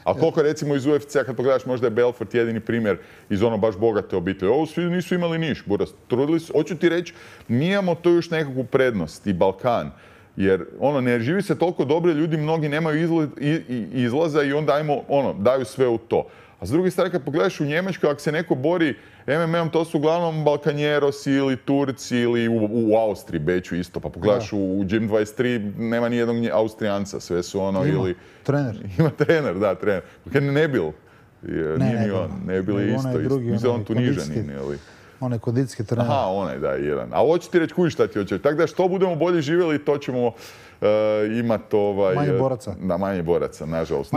A koliko recimo iz UFC-a, kad pogledaš, možda je Belfort jedini primjer iz ono baš bogate obitelji. Ovo svi nisu imali niš, buras, trudili su. Hoću ti reći, mi imamo to još nekakvu prednost i Balkan. Jer ono, ne živi se toliko dobro, ljudi mnogi nemaju izlaza i onda daju sve u to. A s druge strane, kad pogledaš u Njemačkoj, ako se neko bori MMA-om, to su uglavnom Balkanjerosi ili Turci ili u Austriji, Beču isto. Pa pogledaš u Gym 23, nema ni jednog Austrijanca, sve su ono ili... Trener. Ima trener, da, trener. Nebil. Nebil je isto. Mislim, on Tunižanin ili... Onaj kondicijski trener. Aha, onaj, da, jedan. A hoću ti reći, kužiš šta ti hoće. Tako da što budemo bolje živjeli, to ćemo imati manje boraca. Da, manje boraca, nažalost.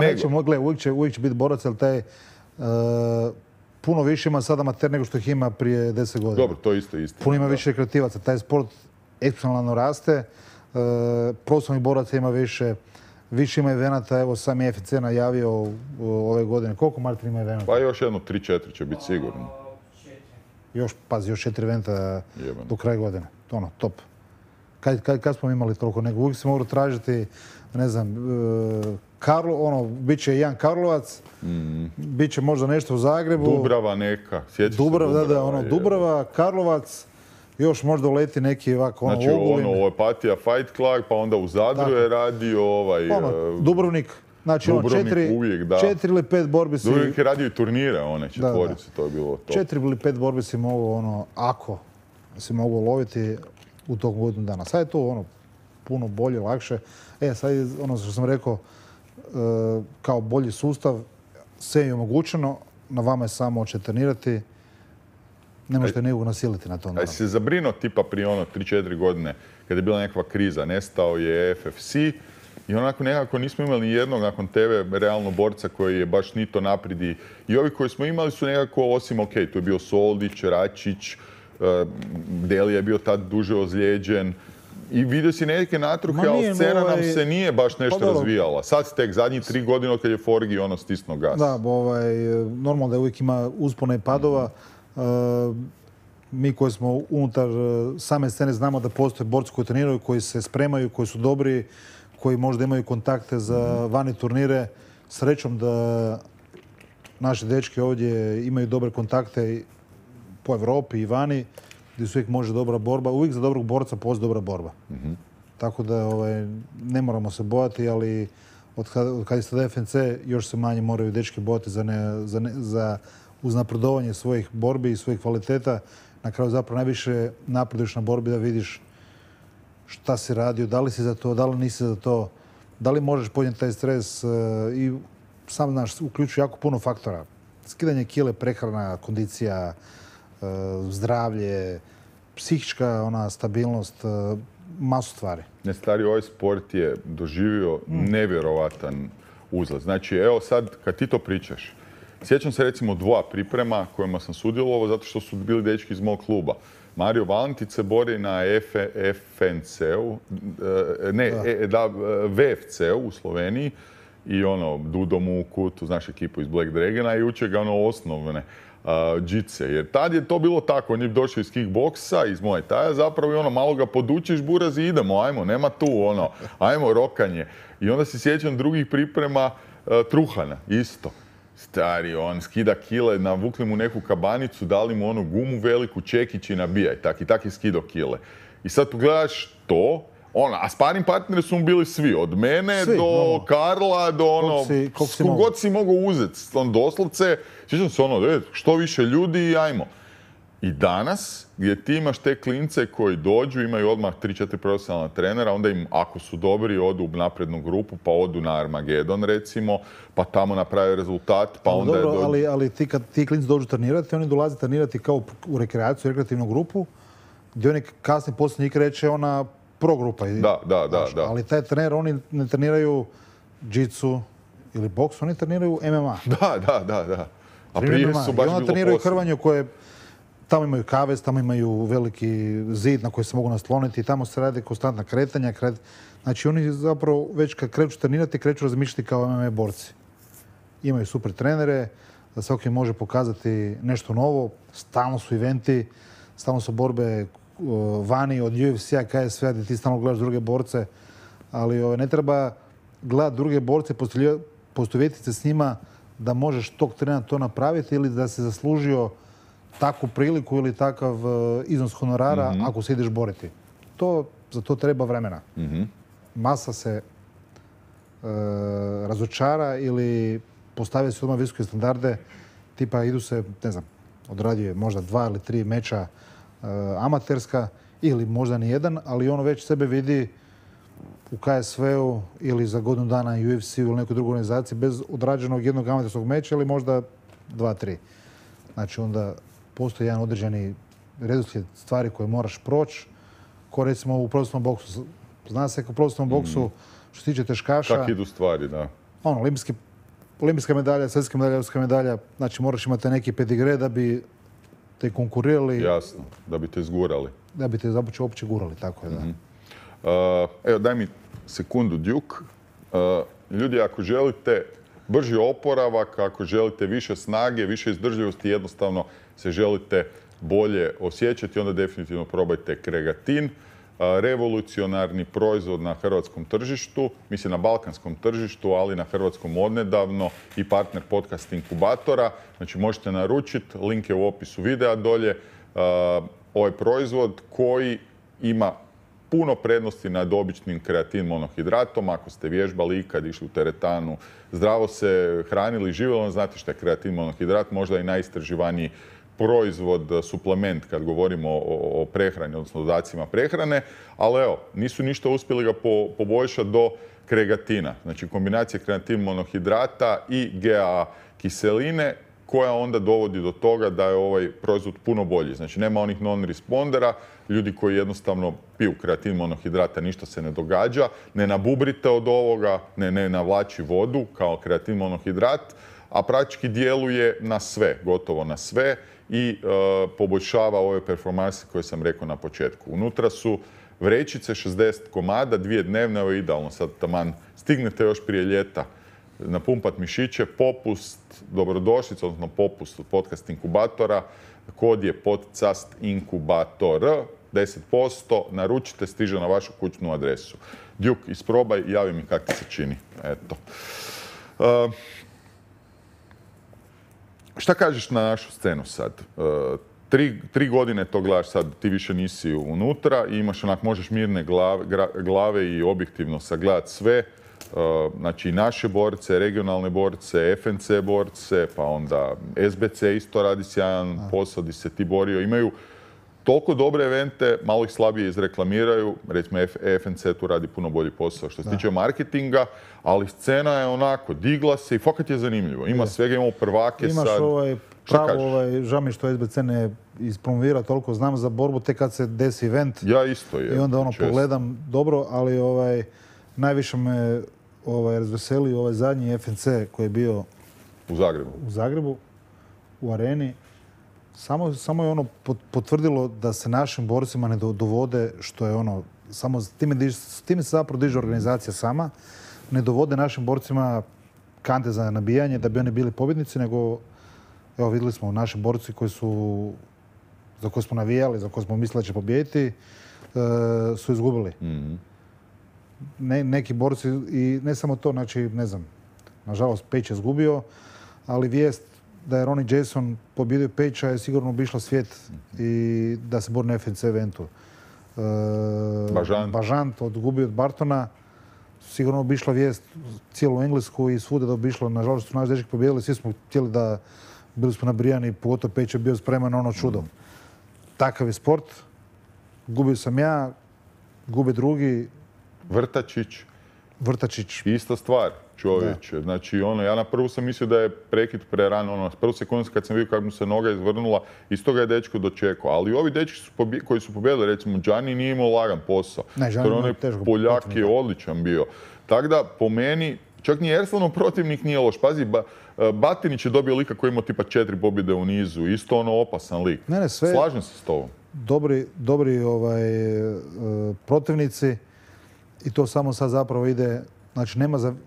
Uvijek će biti boraca, ali taj puno više ima sada amater nego što ih ima prije 10 godina. Dobro, to isto. Puno ima više rekreativaca. Taj sport eksponencijalno raste. Profesionalnih boraca ima više ima evenata. Evo, sam je FC najavio ove godine. Koliko, Martin, ima evenata? Pa još jedno 3-4 će biti sigurno. Još 4 eventa do kraja godine. Ono, top. Kad smo imali toliko nego? Uvijek se mogu tražiti, ne znam, bit će jedan Karlovac, bit će možda nešto u Zagrebu. Dubrava neka, sjećaš se Dubrava. Dubrava, Karlovac, još možda uleti neki ovako Znači Opatija Fight Club, pa onda u Zadru je radio Dubrovnik. Znači, uvijek, da. 4 ili 5 borbi si... Dubrovnik je radio i turnire, one četvorice, to je bilo to. 4 ili 5 borbi si mogu, ako si mogu loviti u tog godinu dana. Sad je to puno bolje, lakše. Sad je ono što sam rekao, kao bolji sustav, sve je omogućeno, na vama je samo oće trenirati, ne možete nekog nasiliti na to. A si se zabrinuo tipa prije 3-4 godine, kada je bila nekakva kriza, nestao je FFC i onako nekako nismo imali ni jednog nakon tebe realno borca koji je baš ni to napredi. I ovi koji smo imali su nekako, osim tu je bio Soldić, Račić, Delija je bio tad duže ozlijeđen. I vidio si neke natruhe, ali scena nam se nije baš nešto razvijala. Sad si tek zadnjih 3 godine od kad je Forgi stisnuo gas. Da, normalno da uvijek ima uspona i padova. Mi koji smo unutar same scene znamo da postoje borci koji treniraju, koji se spremaju, koji su dobri, koji možda imaju kontakte za vani turnire. Srećom da naši dečki ovdje imaju dobre kontakte po Evropi i vani, gdje se uvijek može dobra borba. Uvijek za dobrog borca postoji dobra borba. Tako da ne moramo se bojati, ali od kad je sada FNC još se manje moraju dečki bojati za uznapredovanje svojih borbi i svojih kvaliteta. Na kraju zapravo najviše napreduješ na borbi da vidiš šta si radio, da li si za to, da li nisi za to, da li možeš podnijeti taj stres i sam znaš, uključuje jako puno faktora. Skidanje kile, prehrana, kondicija, zdravlje, psihička stabilnost, masu stvari. Ne, stari, ovaj sport je doživio nevjerovatan uzlaz. Znači, evo sad, kad ti to pričaš, sjećam se recimo 2 priprema kojima sam sudjelovao zato što su bili dečki iz mog kluba. Mario Valentic se bori na FNC-u, VFC-u u Sloveniji i Dudo Muku, tu znaš ekipu iz Black Dragona i uče ga osnovne džice. Jer tad je to bilo tako, on je došao iz kickboksa, iz Muay Thaya zapravo i malo ga podučiš, buraz i idemo, ajmo, nema tu ajmo rokanje. I onda se sjećam drugih priprema Truhana, isto. Stari, on skida kile, navukli mu neku kabanicu, dali mu gumu veliku, čekić i nabijaj. Tak je skido kile. I sad pogledaš to, a sparing partneri su mu bili svi. Od mene do Karla, do god si mogao uzeti. Doslovce, sjećam se što više ljudi i ajmo. I danas, gdje ti imaš te klince koji dođu, imaju odmah 3-4 profesionalna trenera, onda im, ako su dobri, odu u naprednu grupu, pa odu na Armagedon, recimo, pa tamo naprave rezultat, pa onda dobro, ali kad ti klinci dođu trenirati, oni dolaze trenirati kao u rekreaciju, rekreativnu grupu, gdje oni kasnije poslije njih kreće ona pro grupa. Da. Ali taj trener, oni ne treniraju jiu-jitsu ili boks, oni treniraju MMA. Da. A prije su baš bilo treniraju hrvanju koje tamo imaju kavez, tamo imaju veliki zid na koji se mogu nasloniti, tamo se radi konstantna kretanja. Znači oni zapravo već kad kreću trenirati, kreću razmišljati kao MMA borci. Imaju super trenere, da svaki može pokazati nešto novo, stalno su eventi, stalno su borbe vani od UFC-a, KSV-a, gdje ti stalno gledaš druge borce, ali ne treba gledati druge borce, poistovjetiti se s njima da možeš tog trena to napraviti ili da se zaslužio takvu priliku ili takav iznos honorara ako se ideš boriti. Za to treba vremena. Masa se razočara ili postavlja se odmah visoke standarde, tipa idu se, ne znam, odrađuje možda 2 ili 3 meča amaterska ili možda ni jedan, ali ono već sebe vidi u KSV-u ili za godinu dana UFC-u ili nekoj drugoj organizaciji bez odrađenog jednog amaterskog meča ili možda 2-3. Znači onda postoji jedan određeni redoslijed stvari koje moraš proći, ko recimo u profesionalnom boksu. Zna se kao u profesionalnom boksu što se tiče teškaša. Kako idu stvari, da. Olimpijska medalja, svjetska medalja, europska medalja, znači moraš imati neki pedigre da bi te konkurirali. Jasno, da bi te zgurali. Da bi te uopće gurali, tako je, da. Evo, daj mi sekundu, Duke. Ljudi, ako želite brži oporavak, ako želite više snage, više izdržljivosti, jednostavno se želite bolje osjećati, onda definitivno probajte Kregatin. Revolucionarni proizvod na hrvatskom tržištu, mislim na balkanskom tržištu, ali na hrvatskom odnedavno i partner podcast inkubatora. Znači možete naručiti, link je u opisu videa dolje. Ovaj proizvod koji ima puno prednosti nad običnim kreatin monohidratom. Ako ste vježbali ikad, išli u teretanu, zdravo se hranili, živjeli, znate što je kreatin monohidrat, možda i najistraživaniji proizvod, suplement kad govorimo o prehrani, odnosno dodacima prehrane, ali evo, nisu ništa uspjeli ga poboljšati do kregatina. Znači kombinacija kreatin monohidrata i GAA kiseline koja onda dovodi do toga da je ovaj proizvod puno bolji. Znači nema onih non-respondera, ljudi koji jednostavno piju kreatin monohidrata, ništa se ne događa, ne nabubrite od ovoga, ne navlači vodu kao kreatin monohidrat, a praktički djeluje na sve, gotovo na sve i poboljšava ove performanse koje sam rekao na početku. Unutra su vrećice, 60 komada, 2 dnevne, evo idealno, sad taman stignete još prije ljeta napumpat mišiće, popust, dobrodošlica, odnosno popust od podcast inkubatora, kod je podcast inkubator, 10%, naručite, stiže na vašu kućnu adresu. Duke, isprobaj, javi mi kako ti se čini. Eto. Šta kažeš na našu scenu sad? 3 godine to gledaš sad, ti više nisi unutra i imaš onak, možeš mirne glave i objektivno sagledati sve. Znači i naše borce, regionalne borce, FNC borce, pa onda SBC isto radi sjajan posao gdje se ti borio. Imaju toliko dobre evente, malo ih slabije izreklamiraju. Recimo FNC tu radi puno bolji posao što se tiče marketinga, ali scena je onako, digla se i fakat je zanimljivo. Ima svega, imamo prvake sad. Imaš žao mi što SBC ne ispromovira toliko, znam za borbu tek kad se desi event. Ja isto je. I onda pogledam dobro, ali najviše me razveselio ovaj zadnji FNC koji je bio u Zagrebu, u areni. Samo je potvrdilo da se našim borcima ne dovode, što je samo s time se zapravo diže organizacija sama, ne dovode našim borcima kante za nabijanje da bi oni bili pobjednici, nego evo vidjeli smo naši borci za koje smo navijali, za koje smo mislili da će pobijediti, su izgubili. Neki borci i ne samo to, znači ne znam, nažalost Page je izgubio, ali vijest da je Ronnie Jason pobjedio Page-a je sigurno obišla svijet i da se bori na FNC eventu. Bažant odgubio od Bartona, sigurno obišla vijest cijelu Englesku i svuda da obišla. Nažalost su naši dečki pobjedili, svi smo htjeli da bili smo nabrijani, pogotovo Page je bio spreman na ono čudo. takav je sport. Gubio sam ja, gube drugi. Vrtačić. Ista stvar, čovječe. Znači, ja na prvu sam mislio da je prekid prerano. Prvu sekundu kad sam vidio kako mu se noga izvrnula, isto ga je dečko dočekao. Ali ovi dečki koji su pobjedili, recimo, Gianni nije imao lagan posao. Poljak je odličan bio. Tako da, po meni, čak ni Erslanov protivnik nije loš. Pazi, Batinić je dobio lika koji ima tipa 4 pobjede u nizu. Isto opasan lik. Slažem se s tobom. Dobri protivnici i to samo sad zapravo ide, znači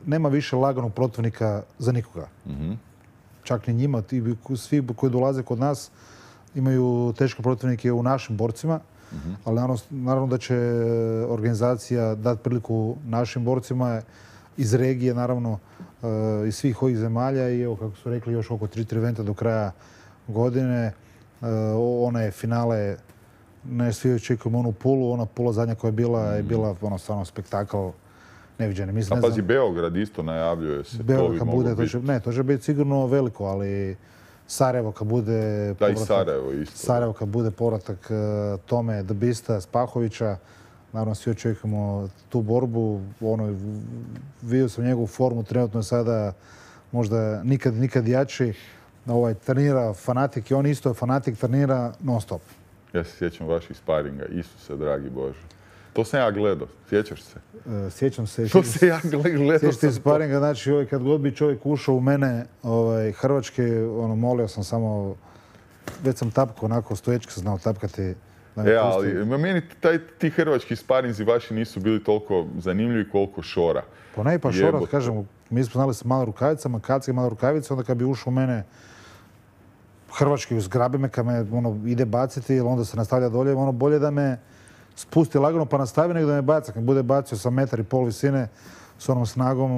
nema više laganog protivnika za nikoga. Čak ni njima, svi koji dolaze kod nas imaju teške protivnike u našim borcima, ali naravno da će organizacija dati priliku našim borcima iz regije, naravno iz svih ovih zemalja i evo kako su rekli još oko 3 eventa do kraja godine. One finale ne svi očekujemo onu pulu, ona pula zadnja koja je bila stvarno spektakl neviđeni. Pazi, Beograd isto najavljuje se. Beograd kad bude, to će biti sigurno veliko, ali Sarajevo kad bude Sarajevo kad bude povratak Tome Dbista, Spahovića, naravno svi očekujemo tu borbu. Vidio sam njegovu formu, trenutno je sada možda nikad jači. Trenira fanatik i on isto je fanatik, trenira non stop. Ja se sjećam vaših sparinga, Isuse, dragi Bože. To sam ja gledao, sjećaš se? Sjećam se. To se ja gledao. Sjećam se sparinga, znači kad god bi čovjek ušao u mene, hrvački, molio sam samo, već sam tapkao onako, stoječki sam znao tapkati. Ali meni ti hrvački sparinzi vaši nisu bili toliko zanimljivi koliko Šora. Pa Šora, kažem, mi smo znali sa malo rukavicama, kacke mala rukavica, onda kad bi ušao u mene hrvački zgrabi me, kad me ide baciti, onda se nastavlja dolje, bolje da me spusti lagano pa nastavi nego da me baca. Kad bude bacio sa 1,5 metra visine s onom snagom.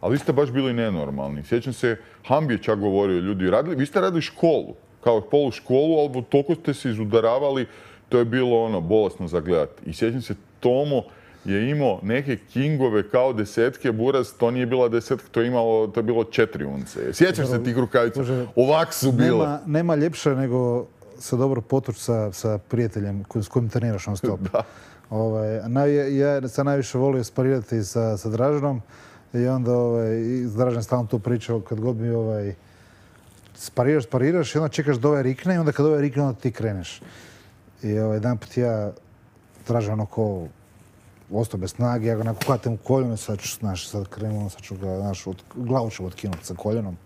Ali vi ste baš bili nenormalni. Sjećam se, Hambi je čak govorio, ljudi, vi ste radili školu, kao polu školu, ali toliko ste se izudaravali, to je bilo bolesno za gledati. I sjećam se, Tomo je imao neke kingove kao desetke, Buraz, to nije bila desetka, to je bilo 4 unce. Sjećaš se tih rukavica? Ovak su bile. Nema ljepše nego se dobro potući sa prijateljem s kojim treniraš non stop. Ja sam najviše volio sparirati sa Draženom i onda Dražen stalno tu pričao kad god mi spariraš i onda čekaš da rikne i onda kad rikne onda ti kreneš. I jedan put ja Dražen ostao bez snage, ja ga onako hvatim u koljeno, sad krenuo, sad ću ga, glavu ću otkinuti sa koljenom.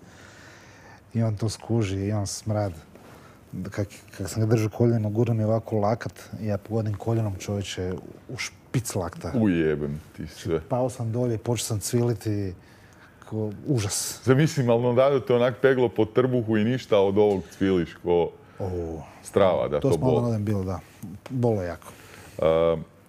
I on to skuži i on smrad. Kak sam ga držao koljeno, gurno mi ovako lakat i ja pogodim koljenom čovječe u špic lakta. Ujebem ti sve. Pao sam dolje i počeo sam cviliti. Užas. Zamislim, ali onda te onak peglo po trbuhu i ništa od ovog cviliš ko strava da to bol. To smo onda bilo, da. Bolo jako.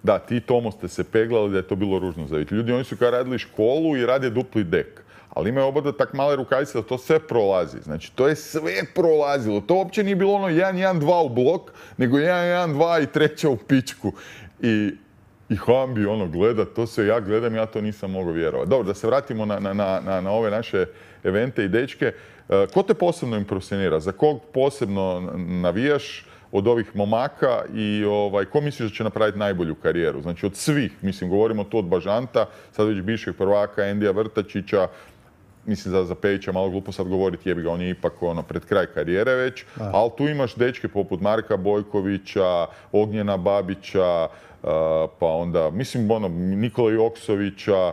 Da, ti Tomo ste se peglali da je to bilo ružno za vidjeti. Ljudi, oni su kao radili školu i rade dupli dek. Ali imaju oba tak male rukavice da to sve prolazi. Znači, to je sve prolazilo. To uopće nije bilo 1-1-2 u blok, nego 1-1-2 i treća u pičku. I Hambi gleda, to se ja gledam, ja to nisam mogao vjerovati. Dobro, da se vratimo na ove naše evente i dečke. Ko te posebno impresionira? Za kog posebno navijaš od ovih momaka i ko misliš da će napraviti najbolju karijeru? Znači od svih, mislim, govorimo tu od Bažanta, sad već bivšeg prvaka, Endija Vrtačića, mislim za Pejića malo glupo sad govoriti, jebi ga, on je ipak pred kraj karijere već, ali tu imaš dečke poput Marka Bojkovića, Ognjena Babića, pa onda, mislim, Nikola Joksovića,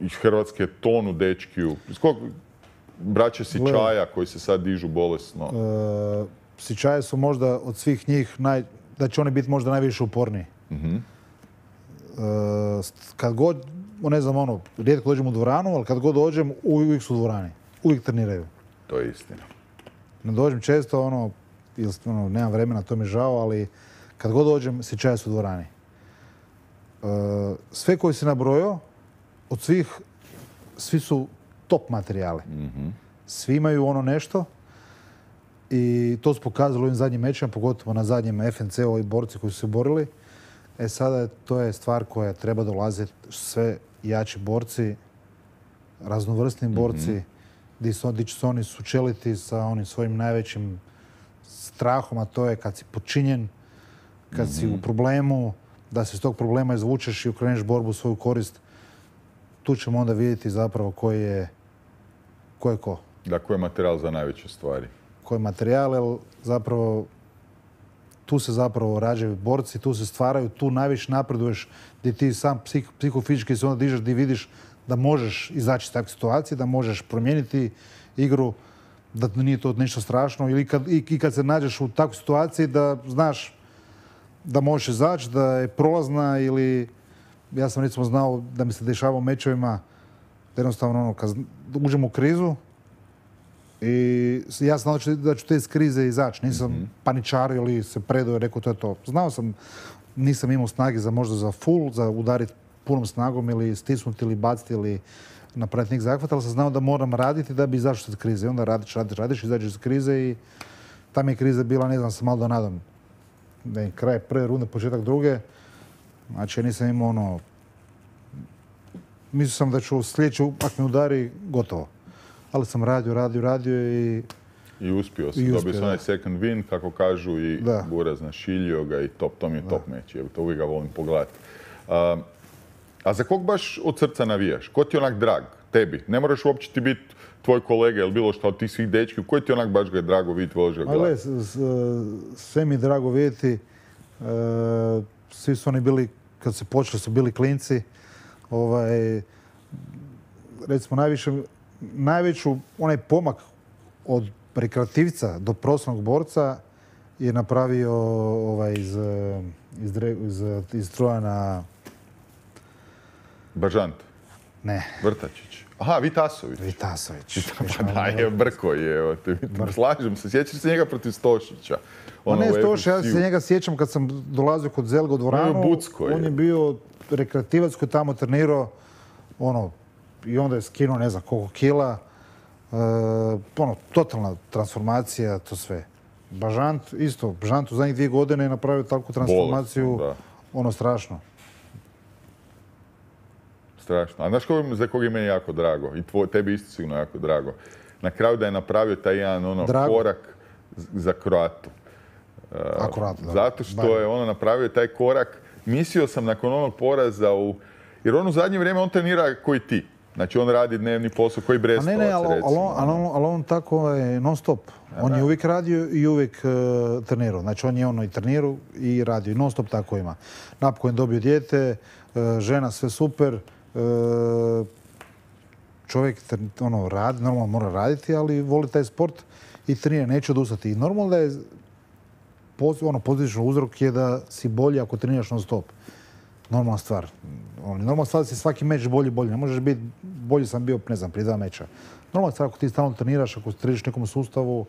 iz Hrvatske tonu dečkiju. Braće Sičaja koji se sad dižu bolesno. Sičaje su možda od svih njih, da će oni biti možda najviše uporniji. Kad god, ne znam, rijetko dođem u dvoranu, ali kad god dođem, uvijek su u dvorani. Uvijek treniraju. To je istina. Ne dođem često, nemam vremena, to mi je žao, ali kad god dođem, Sičaje su u dvorani. Sve koji si nabrojao, od svih, svi su top materijali. Svi imaju nešto. I to su pokazali u ovim zadnjim mečima, pogotovo na zadnjem FNC, ovi borci koji su se borili. Sada to je stvar koja treba dolaziti, sve jači borci, raznovrsni borci, gdje će se oni sučeliti sa onim svojim najvećim strahom, a to je kad si počinjen, kad si u problemu, da se iz tog problema izvučeš i okreneš borbu u svoju korist, tu ćemo onda vidjeti zapravo ko je ko. Da, ko je materijal za najveće stvari. Ko je materijal, jer zapravo tu se zapravo rađaju borci, tu se stvaraju, tu najviše napreduješ, gdje ti sam psihofizički se onda dižeš, gdje vidiš da možeš izaći iz takve situacije, da možeš promijeniti igru, da nije to ništa strašno, ili kad se nađeš u takvoj situaciji da znaš da možeš izaći, da je prolazna, ili ja sam recimo znao da mi se dešava u mečevima jednostavno kad uđem u krizu i ja sam znao da ću te iz krize izaći. Nisam paničario ili se predao i rekao to je to. Znao sam, nisam imao snage možda za full, za udariti punom snagom ili stisnuti ili baciti ili napraviti neki zahvat, ali sam znao da moram raditi da bi izašao iz krize. I onda radiš, izađeš iz krize i tam je kriza bila, ne znam, sa Maldonadom. Kraj prve runde, početak druge. Znači, ja nisam imao mislio sam da ću sljedeći, ako me udari, gotovo. Ali sam radio i... I uspio sam. Dobio sam onaj second win, kako kažu, i Buraz našiljio ga i to mi je top meč. To uvijek ga volim pogledati. A za kog baš od srca navijaš? Ko ti je onak drag? Tebi? Ne moraš uopće ti biti tvoj kolega ili bilo što od tih svih dečki. Koji ti onak baš ga je drago vidjeti, voliš ga gledati? Sve mi je drago vidjeti. Svi su oni bili, kad se počeli, su bili klinci. Recimo, najveću onaj pomak od rekreativca do profesionalnog borca je napravio iz Trojana... Bažant? Ne. Vrtačić? Aha, Vitasović. Pa da, je brko je. Slažem se, sjećaš se njega protiv Stošića? Ne Stošić, ja se njega sjećam kad sam dolazio kod Zelga u dvoranu. On je bio rekreativac koji tamo trenirao i onda je skinuo ne znam koliko kila. Totalna transformacija, to sve. Bažant isto. Bažant u zadnjih 2 godine je napravio takvu transformaciju. Strašno. Strašno. A znaš za koga je meni jako drago? I tebi isto sigurno jako drago. Na kraju da je napravio taj jedan korak za Kroatu. Zato što je napravio taj korak. Mislio sam nakon onog poraza jer on u zadnje vrijeme on trenira koji ti. Znači on radi dnevni posao koji Brestovac, recimo. Ali on tako je non stop. On je uvijek radio i uvijek trenirao. Znači on je i trenirao i radio. Non stop tako ima. Napokon je dobio dijete, žena, sve super. Čovjek radi, normalno mora raditi, ali voli taj sport i trenira, neće odustati. I normalno da je pozitičan uzrok je da si bolji ako treniraš non stop. Normalna stvar. Normalna stvar da si svaki meč bolji. Ne možeš biti, bolji sam bio, ne znam, prije 2 meča. Normalna stvar ako ti stalno treniraš, ako treniraš nekom sustavu,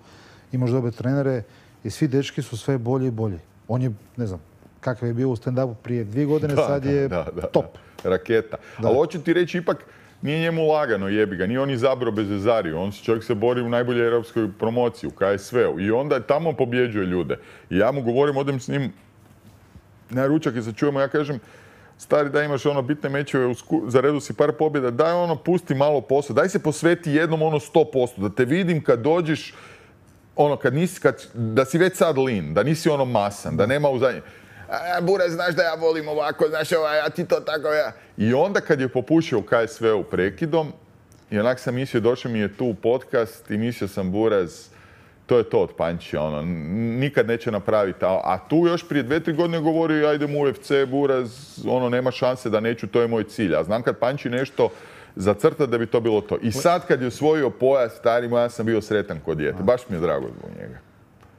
imaš dobre trenere i svi dečki su sve bolji i bolji. On je, ne znam, kakav je bio u stand-upu prije 2 godine, sad je top. Raketa. Ali hoću ti reći, ipak nije njemu lagano, jebi ga. Nije on izabrao Bezezariju. Čovjek se bori u najboljoj europskoj promociji, u KSV-u. I onda tamo pobjeđuje ljude. I ja mu govorim, odem s njim na ručak i se čujemo, ja kažem, stari, da imaš bitne mečeve, za redu si par pobjeda, daj pusti malo posao, daj se posveti jednom 100%, da te vidim kad dođeš, da si već sad lean, da nisi masan, da nema u zadnje. Buraz, znaš da ja volim ovako, znaš a ti to tako, ja. I onda kad je popušio u KSV-u prekidom, i onak sam mislio, došao mi je tu u podcast i mislio sam, Buraz, to je to od Pančija, nikad neće napraviti. A tu još prije 2-3 godine govorio, ja idem u UFC, Buraz, nema šanse da neću, to je moj cilj. A znam kad Panči nešto zacrta da bi to bilo to. I sad kad je osvojio pojas, stari moj, ja sam bio sretan kod dijete. Baš mi je drago zbog njega.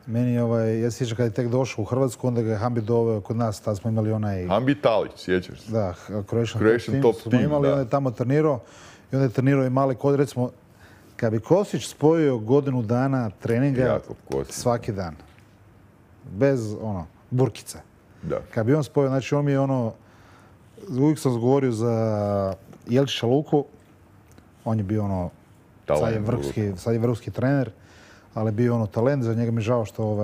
Meni ja se sjećam kad je tek došao u Hrvatsku, onda ga je Hambi doveo kod nas, tad smo imali onaj... Hambi Talić, sjećaš se? Da, Croatian Top Team smo imali, onda je tamo trenirao. I onda je trenirao i mali kod, recimo, kad bi Kosić spojio godinu dana treninga svaki dan, bez burkica. Kad bi on spojio, znači on mi je uvijek sam govorio za Jelčića Luku, on je bio sad je vrhunski trener, ali bio talent, za njega mi je žao što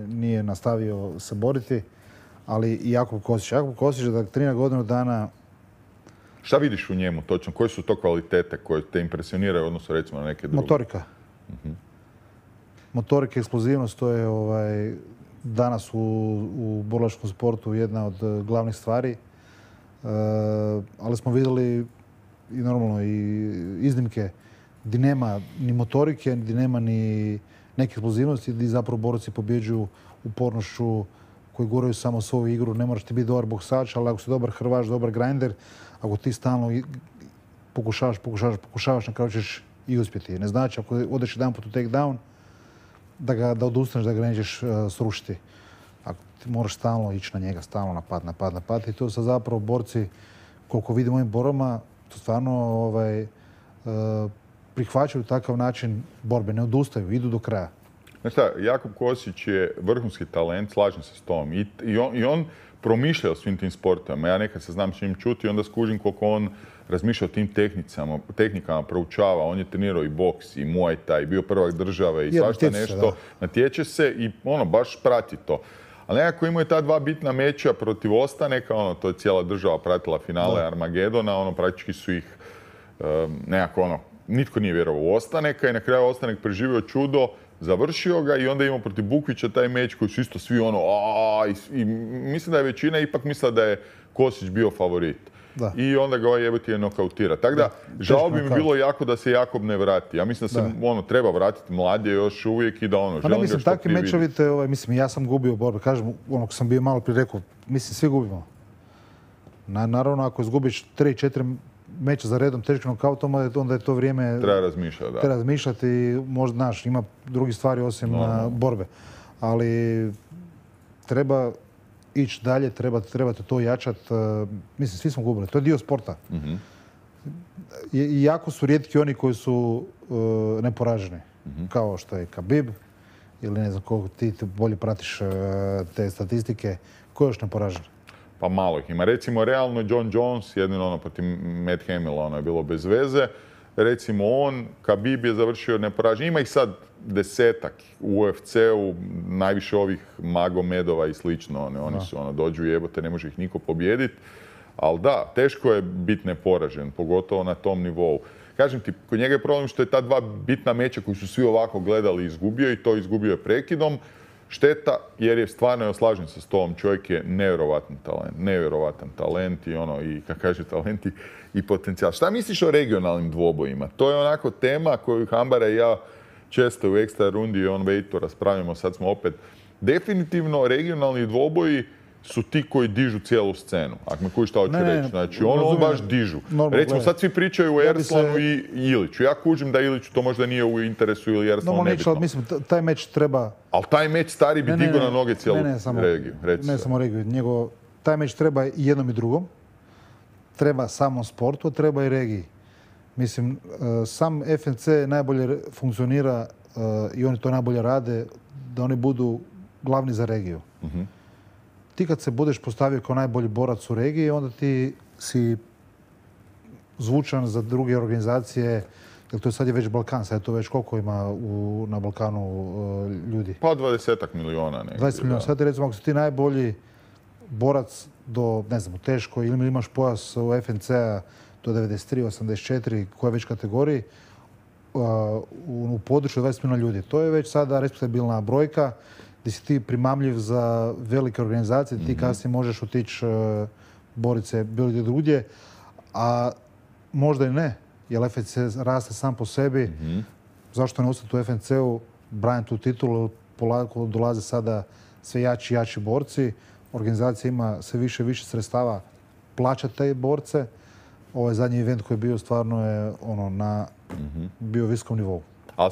nije nastavio se boriti, ali i Jakub Kosić. Jakub Kosić da trenira godinu dana. Šta vidiš u njemu točno? Koje su to kvalitete koje te impresioniraju odnosno recimo na neke druge? Motorika. Motorika, eksplozivnost, to je danas u borilačkom sportu jedna od glavnih stvari. Ali smo vidjeli i normalno i iznimke gdje nema ni motorike, gdje nema ni neke eksplozivnosti, gdje zapravo borci pobjeđuju upornošću, koji guraju samo svoju igru. Ne moraš ti biti dobar boksač, ali ako si dobar hrvaš, dobar grinder, ako ti stalno pokušavaš, na kraju ćeš i uspjeti. Ne znači ako odeš jedan put u take down, da odustaneš, da ga nećeš srušiti. Ako ti moraš stalno ići na njega, stalno napad. I to su zapravo borci, koliko vidimo ovim borbama, to stvarno prihvaćaju takav način borbe, ne odustaju, idu do kraja. Znaš šta, Jakub Kosić je vrhunski talent, slažem se s tom. I on promišlja o svim tim sportovima. Ja nekad se znam s njim čuti i onda skužim koliko on razmišlja o tim tehnikama, proučava. On je trenirao i boks, i muay thai, bio prvak države i svašta nešto. Natječe se i baš prati to. Ali nekako imao je ta dva bitna meča protiv Ostaneka, to je cijela država pratila finale Armagedona, praktički su ih nekako nitko nije vjerovao u Ostaneka i na kraju Ostanek preživio čudo, završio ga i onda imao protiv Bukvića taj meč koji su isto svi i mislim da je većina ipak mislila da je Kosić bio favorit. Da. I onda ga jebote je nokautira. Tako da, žao bi mi bilo jako da se Jakob ne vrati. Ja mislim da se treba vratiti, mlad je još uvijek i da želim ga što takvi mečovite, ja sam gubio borbe. Kažem, ko sam bio malo prije rekao, mislim, svi gubimo. Naravno, ako izgubiš 3-4 meča za redom teškim nokautom, onda je to vrijeme... Treba razmišljati, da. Treba razmišljati i možda, znaš, ima drugih stvari osim borbe. Ali treba ići dalje, trebate to jačati. Mislim, svi smo gubili. To je dio sporta. I jako su rijetki oni koji su neporaženi. Kao što je Khabib ili ne znam koliko ti bolje pratiš te statistike. Ko je još neporažen? Pa malo ih ima. Recimo, realno John Jones, jedino protiv Matt Hamila, je bilo bez veze. Recimo Khabib je završio neporažen. Ima ih sad 10-ak u UFC-u, najviše ovih Magomedova i slično. Oni su dođu jebote, ne može ih niko pobijediti. Ali da, teško je biti neporažen, pogotovo na tom nivou. Kažem ti, kod njega je problem što je ta dva bitna meča koji su svi ovako gledali izgubio i to izgubio je prekidom. Šteta, jer je stvarno, slažem se s tom, čovjek je nevjerovatan talent i kako kaže talent i potencijal. Šta misliš o regionalnim dvobojima? To je onako tema koju Hambara i ja često u ekstra rundi i on-weightu raspravljamo, sad smo opet. Definitivno regionalni dvoboji su ti koji dižu cijelu scenu. Ako me kuži šta hoću reći. Znači, baš dižu. Recimo, sad svi pričaju o Erslanu i Iliću. Ja kužim da Iliću to možda nije u interesu ili Erslanu nebitno. Mislim, taj meč treba... Ali taj meč stari bi digao na noge cijelu regiju. Ne samo regiju. Taj meč treba i jednom i drugom. Treba samom sportu, treba i regiji. Mislim, sam FNC najbolje funkcionira i oni to najbolje rade, da oni budu glavni za regiju. Ti kad se budeš postavio kao najbolji borac u regiji, onda ti si zvučan za druge organizacije, jer to sad je već Balkan, sad je to već koliko ima na Balkanu ljudi? Pa 20 miliona. 20 miliona. Sad recimo, ako si ti najbolji borac do, ne znam, u teškoj ili imaš pojas u FNC-a do 93, 84, koje već kategoriji, u području 20 miliona ljudi. To je već sada respektabilna brojka, gdje si ti primamljiv za velike organizacije, ti kasnije možeš otići boriti se bilo gdje drugdje, a možda i ne, jer FNC raste sam po sebi. Zašto ne ostati u FNC-u, braniti tu titulu, polako dolaze sada sve jači i jači borci, organizacija ima sve više i više sredstava plaćati te borce. Ovaj zadnji event koji je bio stvarno je na bio visokom nivou. Ali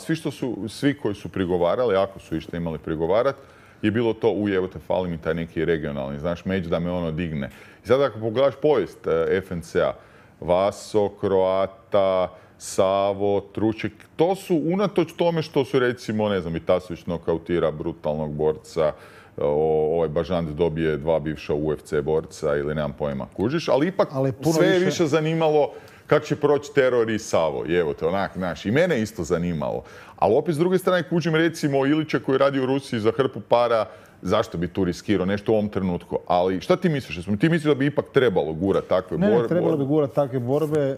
svi koji su prigovarali, ako su išta imali prigovarat, je bilo to evo te fali mi taj neki regionalni, znaš, meč da me digne. I sad ako pogledaš povijest FNC-a, Vaso, Kroata, Savo, Truček, to su unatoč tome što su recimo, ne znam, Vitasović nokautira brutalnog borca, ovaj Bažant dobije 2 bivša UFC borca ili nemam pojma, kužiš, ali ipak sve je više zanimalo kako će proći Teror i Savo. I evo te, znaš, i mene isto zanimalo. Ali opet s druge strane kužim recimo Ilića koji radi u Rusiji za hrpu para, zašto bi tu riskirao nešto u ovom trenutku. Ali šta ti misliš? Ti misliš da bi ipak trebalo gurati takve borbe? Ne, trebalo bi gurati takve borbe.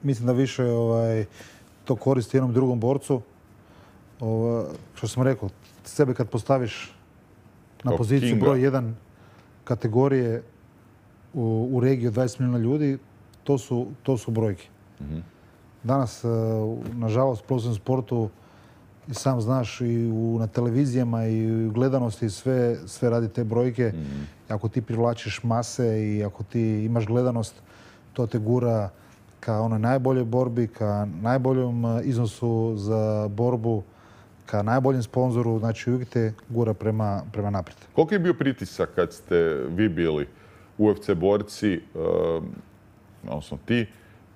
Mislim da više to koristi jednom drugom borcu. Što sam rekao, sebe kad postaviš na poziciju Kinga. broj 1 kategorije u regiji od 20 milijuna ljudi, to su brojke. Danas, nažalost, u profesionalnom sportu, i sam znaš, i na televizijama i u gledanosti sve radi te brojke. Ako ti privlačiš mase i ako ti imaš gledanost, to te gura ka onoj najboljoj borbi, ka najboljem iznosu za borbu, ka najboljem sponzoru, znači uvijek te gura prema naprijed. Koliko je bio pritisak kad ste vi bili UFC borci, odnosno ti,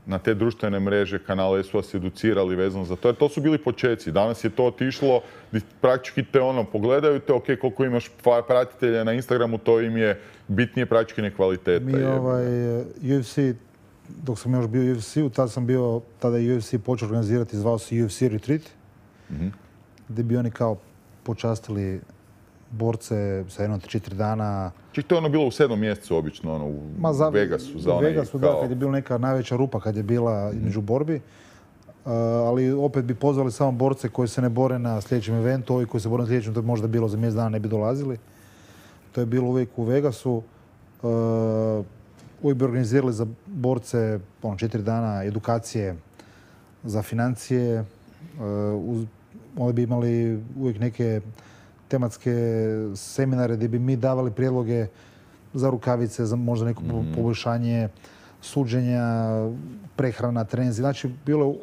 na te društvene mreže, kanale, su vas educirali vezano za to? Jer to su bili počeci. Danas je to otišlo, praktički te pogledaju te, ok, koliko imaš pratitelja na Instagramu, to im je bitnije praktički kvaliteta. Mi UFC, dok sam još bio u UFC-u, tada je UFC počeo organizirati, zvao se UFC Retreat, gdje bi oni kao počastili borce sa 1-4 dana. Ček, to je bilo u 7. mjesecu, obično, u Vegasu. U Vegasu, da, kad je bila neka najveća rupa, kad je bila između borbi. Ali opet bi pozvali samo borce koji se ne bore na sljedećem eventu, ovi koji se bore na sljedećem, to bi možda bilo za mjesec dana, ne bi dolazili. To je bilo uvijek u Vegasu. Uvijek bi organizirali za borce 4 dana edukacije za financije. Onda bi imali uvijek neke tematske seminare gdje bi mi davali prijedloge za rukavice, za možda neko poboljšanje suđenja, prehrana, treninzi. Znači, bilo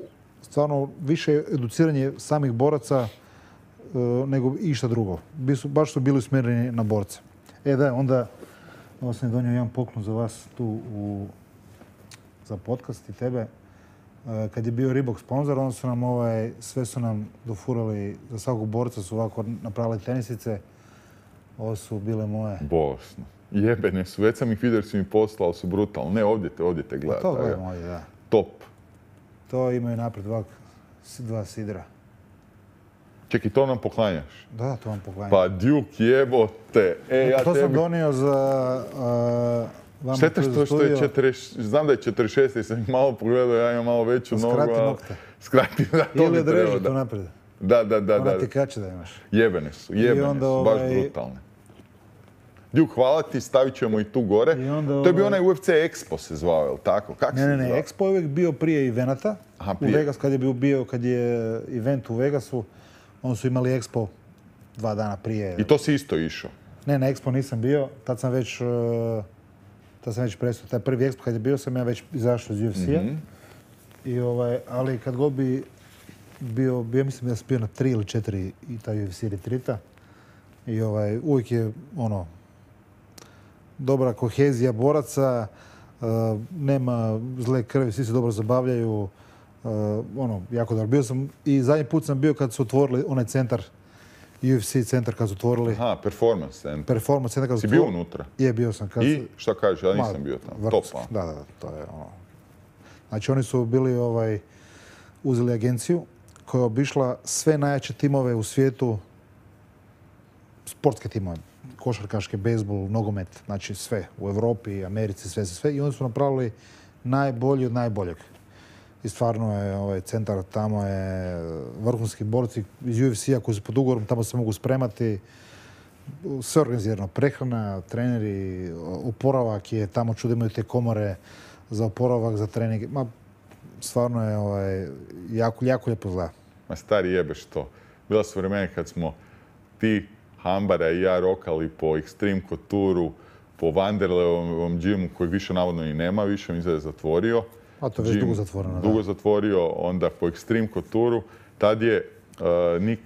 stvarno više educiranje samih boraca nego išta drugo. Baš su bili usmjereni na borce. Onda sam donio jedan poklon za vas tu za podcast i tebe. Kad je bio Reebok sponzor, onda su nam sve su nam dofurali, za svakog borca su ovako napravili tenisice. Ovo su bile moje. Bolesno. Jebene su, već sam ih vidio jer su mi poslali, ali su brutalno. Ne, ovdje te gledati. To gledam ovdje, da. Top. To imaju naprijed dva sidra. Čekaj, to nam poklanjaš? Da, to vam poklanjam. Pa Duke, jebote. To sam donio za... Šteta što je 40, znam da je 46 jer sam ih malo pogledao, ja imam malo veću nogu. Skrati nokte. Skrati, da, to ili bi trebao. odreži to naprijed. Da. Ona ti kače da imaš. Jebene su, baš brutalne. Duke, hvala ti, stavit ćemo i tu gore. To je bio onaj UFC Expo se zvao, je li tako? Ne, Expo je uvijek bio prije evenata. U Vegas, kad je event u Vegasu, onda su imali Expo 2 dana prije. I to si isto išao? Ne, na Expo nisam bio, tad sam već prestao. Taj prvi Expo kad je bio sam ja već izašao iz UFC-a. Ali kad god bi bio, mislim da sam bio na 3 ili 4 i taj UFC retreata. I uvijek je dobra kohezija boraca, nema zle krvi, svi se dobro zabavljaju. Jako dobro. Bio sam i zadnji put sam bio kad su otvorili onaj centar, UFC centar kad su otvorili. Aha, performance center. Performance center kad su otvorili. Si bio unutra? Je, bio sam. I šta kažeš, ja nisam bio tamo. Top. Da, to je Znači oni su bili, uzeli agenciju koja je obišla sve najjače timove u svijetu, sportske timove, košarkaške, bejzbol, nogomet, znači sve u Europi, Americi, sve. I oni su napravili najbolji od najboljeg. I stvarno je centar, tamo je vrhunski borci iz UFC-a koji su pod ugovorom, tamo se mogu spremati. Sve organizirano, prehrana, treneri, oporavak je, tamo čudo imaju te komore za oporavak, za trening. Stvarno je jako lijepo izgleda. Ma stari jebeš to. Bila su vremena kad smo ti, Hambara i ja rokali po Extreme Couture-u, po Vanderleovom džimu kojeg više navodno i nema, više mi se je zatvorio. A to je već dugo zatvoreno. Dugo zatvorio, onda po Extreme Couture-u. Tad je Nick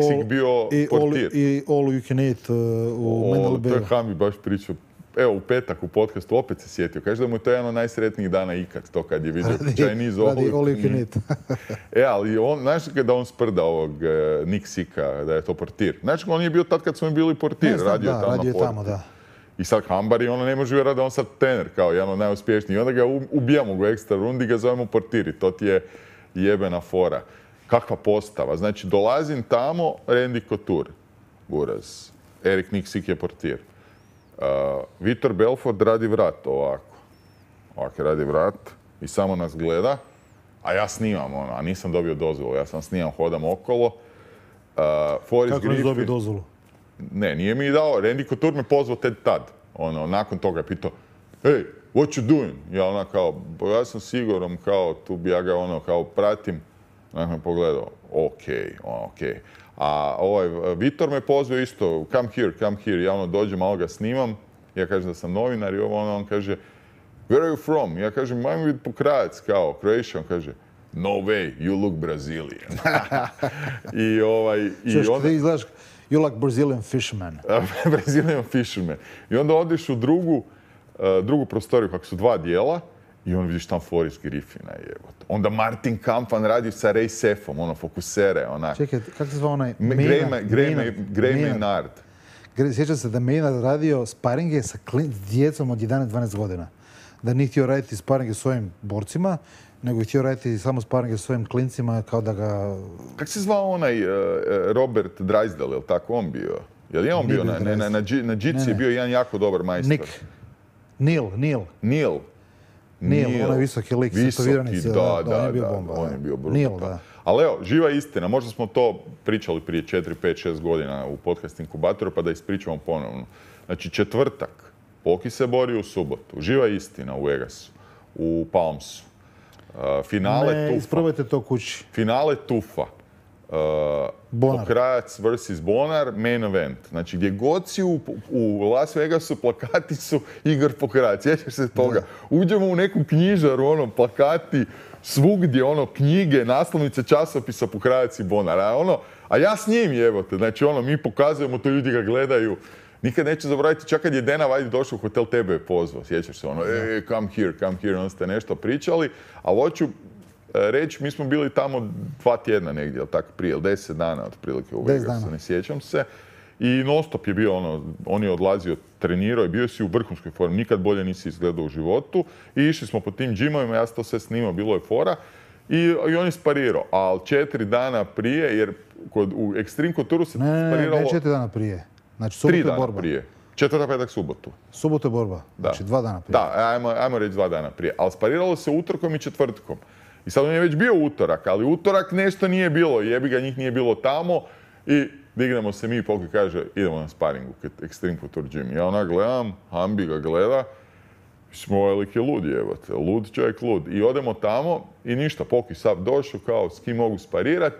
Sik bio portir. I All You Can Eat u Mandalay Bayu. To je Hambi baš pričao. Evo, u petak u podcastu opet se sjetio. Kaže da mu je to jedan od najsretnijih dana ikad, to kad je vidio Chinese All You Can Eat. Ali znaš kada on sprda ovog Nick Sika, da je to portir? Znaš, on je bio tad kad smo bili portir, radio tamo, da. I sad Hambar i ne može vjerati da on sad trener, kao jedan od najuspješnijih. I onda ga ubijamo u ekstra rundi i ga zovemo portir. I to ti je jebena fora. Kakva postava. Znači, dolazim tamo, Randy Couture, Buraz. Erik Nick Sik je portir. Vitor Belfort radi vrat ovako. Ovako radi vrat i samo nas gleda. A ja snimam, a nisam dobio dozvolu. Ja sam snimam, hodam okolo. Kako nisi dobio dozvolu? Ne, nije mi dao. Randy Couture me pozvao tad. Nakon toga je pitao, hey, what you doing? Ja kao, ja sam siguran, kao, tu bi ja ga kao pratim. Nakon me pogledao, okej. A Vitor me pozvao isto, come here. Ja dođem, malo ga snimam. Ja kažem da sam novinar i on kaže, where are you from? Ja kažem, ajmo biti Pokrajac, kao, Croatia. On kaže, no way, you look Brazilian. Ti izgledaš, you like Brazilian fisherman. Brazilian fisherman. I onda odeš u drugu prostoriju, kako su 2 dijela, i on vidiš tam Floris Griffina, jebote. Onda Martin Kampman radi sa Ray Sefom, fokusere, onak. Čekaj, kako se zva onaj? Gray Maynard. Sjećam se da Maynard radio sparinge sa djecom od 11-12 godina. Da nije htio raditi sparinge s ovim borcima, nego je htio raditi samo sparinge s ovim klincima kao da ga... Kako se zvao onaj Robert Drysdale, je li tako on bio? Je li on bio na džici je bio jedan jako dobar majstor? Neil, onaj visoki lik, setoviranici. Da, on je bio bomba. On je bio brutal. Neil, da. Ali evo, živa istina. Možda smo to pričali prije 4, 5, 6 godina u podcast inkubatoru, pa da ispričamo ponovno. Znači, četvrtak. Poki se bori u subotu. Živa istina u Vegasu. U Palmsu. Finale Tufa. Isprobajte to kući. Finale Tufa. Pokrajac vs. Bonar, main event. Znači, gdje god si u Las Vegasu, plakati su Igor Pokrajac. Sjećaš se toga? Uđemo u neku knjižaru, plakati, svugdje, knjige, naslovnice časopisa Pokrajac i Bonar. A ja s njim, jebote. Znači, mi pokazujemo to, ljudi ga gledaju. Nikad neću zaboraviti, čak kad je Dana White došao u hotel, tebe je pozvao. Sjećaš se, come here, onda ste nešto pričali. Ali hoću reći, mi smo bili tamo 2 tjedna negdje, ali tako prije, 10 dana otprilike u Vegasu, ne sjećam se. I non-stop je bio on je odlazio, trenirao i bio si u vrhunskoj formi, nikad bolje nisi izgledao u životu. I išli smo po tim džimovima, ja sam to sve snimao, bilo je fora. I on je sparirao, ali 4 dana prije, jer u Extreme Couture se spariralo... Ne, 4 dana prije. Znači, subotu je borba. 3 dana prije. Četvrtak, petak, subotu. Subotu je borba. Znači, 2 dana prije. Da, ajmo reći 2 dana prije. Ali spariralo se utorkom i četvrtkom. I sad on je već bio utorak, ali utorak nešto nije bilo. Jebi ga, njih nije bilo tamo. I dignemo se mi i Poki kaže, idemo na sparing u Extreme Couture Gym. Ja gledam, Hambi ga gleda. Smo ovaj lik je lud, jebate. Lud čovjek, lud. I odemo tamo i ništa. Poki sad došao, kao s kim mogu sparirati.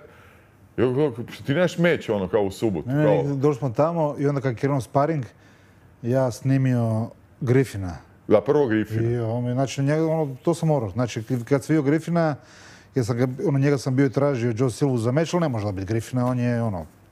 Ti nemaš meć, kao u subotu. Došli smo tamo i onda kad je krenuo sparing, ja snimio Griffina. Da, prvo Griffina. Znači, to sam morao. Znači, kad sam vidio Griffina, njega sam bio i tražio Joe Silvu za meč, ali ne može da biti Griffina, on je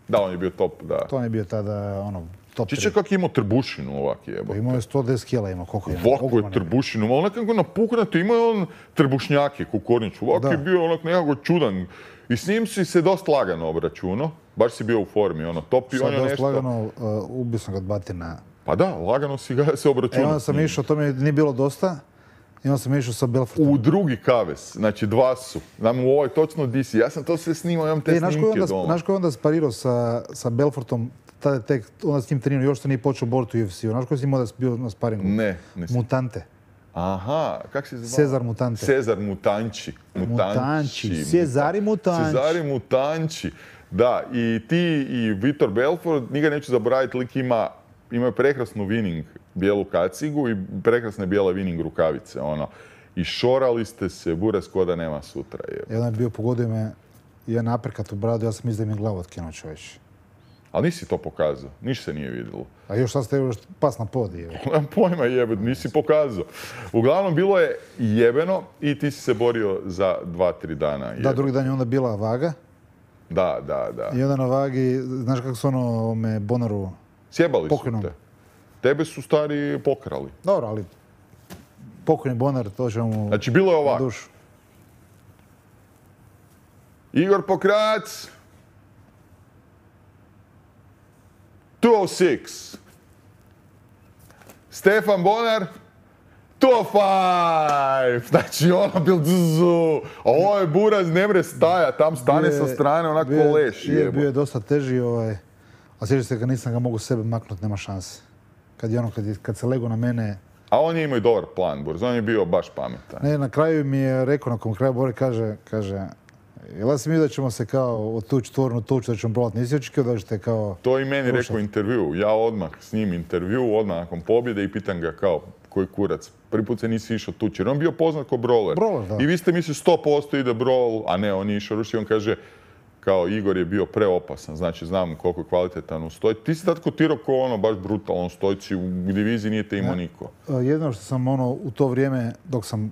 Da, on je bio top, da. To on je bio tada, top 3. Čiče kak je imao trbušinu ovak jebote. Imao je 110 kila, koliko je. Ovako je trbušinu, ali nekako napuknato, imao je on trbušnjake, kukorniću. Ovako je bio nekako čudan. I s njim si se dosta lagano obračunao, baš si bio u formi, top i on je nešto... Sad dosta lagano, ubio sam ga od batina. Pa da, lagano si ga se obračunao. Onda sam išao, to mi nije bilo dosta, i onda sam išao sa Belfortom. U drugi kavez, znači 2 su. Znam u ovoj točno DC, ja sam to sve snimao, imam te snimke doma. Znaš ko je onda sparirao sa Belfortom, tada je tek, onda s njim trenirao, još što nije počeo boriti u UFC-u. Znaš ko je s njim onda bio na sparingu? Ne. Mutante. Aha, kak se zove? Cezar Mutante. Cezar Mutanči. Cezari Mutanči. Da, i ti i Vitor Belfort, nikad neću zaboraviti, lik imaju prekrasnu winning bijelu kacigu i prekrasne bijele winning rukavice, I šorali ste se, buras ko da nema sutra. Jedan je bio, pogodio me, jedan aperkat u bradu, ja sam mislio da mi je glavu otkinuo čovječ. Ali nisi to pokazao, niš se nije vidjelo. A još sad ste pas na pod, Nemam pojma jebet, nisi pokazao. Uglavnom, bilo je jebeno i ti si se borio za 2-3 dana. Da, drugi dan je onda bila vaga. Da. I onda na vagi, znaš kako su Bonaru sjebali pokojnom. Su te. Tebe su stari pokrali. Dobro, ali pokojni Bonar, to će mu... Znači, bilo je ovako. Dušu. Igor Pokrajac. 206. Stefan Bonar. 205. Znači, bil dzuzu. A ovo je buraz, ne mre staja. Tam stane sa strane, onako leš. Bio je dosta teži, a sjeća se kad nisam ga mogu sebe maknuti, nema šanse. Kad se lego na mene... A on je imao i dobar plan, Burz. On je bio baš pametan. Ne, na kraju mi je rekao, nakon kraja bore, kaže, Jel si mi da ćemo se kao otući tvornu tuču, da ćemo probati, nisi očekio da ćete kao... To i meni rekao u intervju. Ja odmah s njim intervju, odmah nakon pobjede i pitam ga kao, koji kurac, prvi put se nisi išao tući. Jer on bio poznat kao brawler. Da. I vi ste mislili 100% ide brawl, a ne, on je išao rušiti. On kaže, kao Igor je bio preopasan, znači znam koliko je kvalitetan u stoji. Ti si tad kotirao ko ono baš brutalan stojci, u diviziji nije te imao niko. Jedino što sam u to vrijeme, dok sam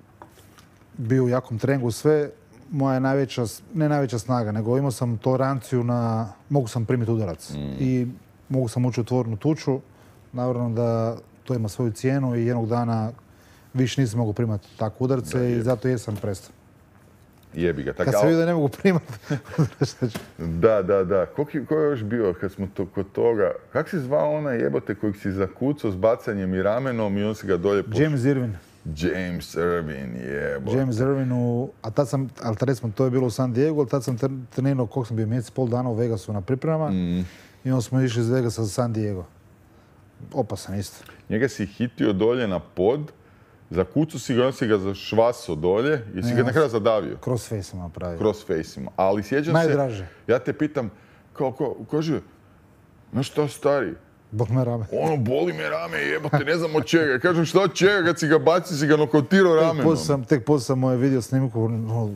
bio u jakom treningu sve, moja najveća, ne najveća snaga, nego imao sam toleranciju na, mogu sam primiti udarac i mogu sam ući u tvornu tuču. Naravno da to ima svoju cijenu i jednog dana više nisam mogu primati takve udarce i zato jesam prestao. Jebi ga. Kad sam vidio da ne mogu primati. Da. Ko je još bio kad smo kod toga? Kak si zvao onaj jebote kojeg si zakucao s bacanjem i ramenom i on si ga dolje pošao? James Irvin. James Irvin, jebote. James Irvin, ali tad sam, recimo to je bilo u San Diego, ali tad sam trenirao koliko sam bio, mjesec, pol dana u Vegasu na pripremama i onda smo išli iz Vegasa za San Diego. Opasan isto. Njega si hitio dolje na pod, zakucao si ga, on si ga zašvasao dolje i si ga na kraju zadavio. Crossface sam napravio. Crossface ima. Ali sjećam se... Najdraže. Ja te pitam, kaže, znaš šta stari? Boli me rame. Ono, boli me rame, jebote, ne znam od čega. Kažem, šta od čega, kad si ga bacio, si ga nokautirao ramenom. Tek poslije sam moje video snimku,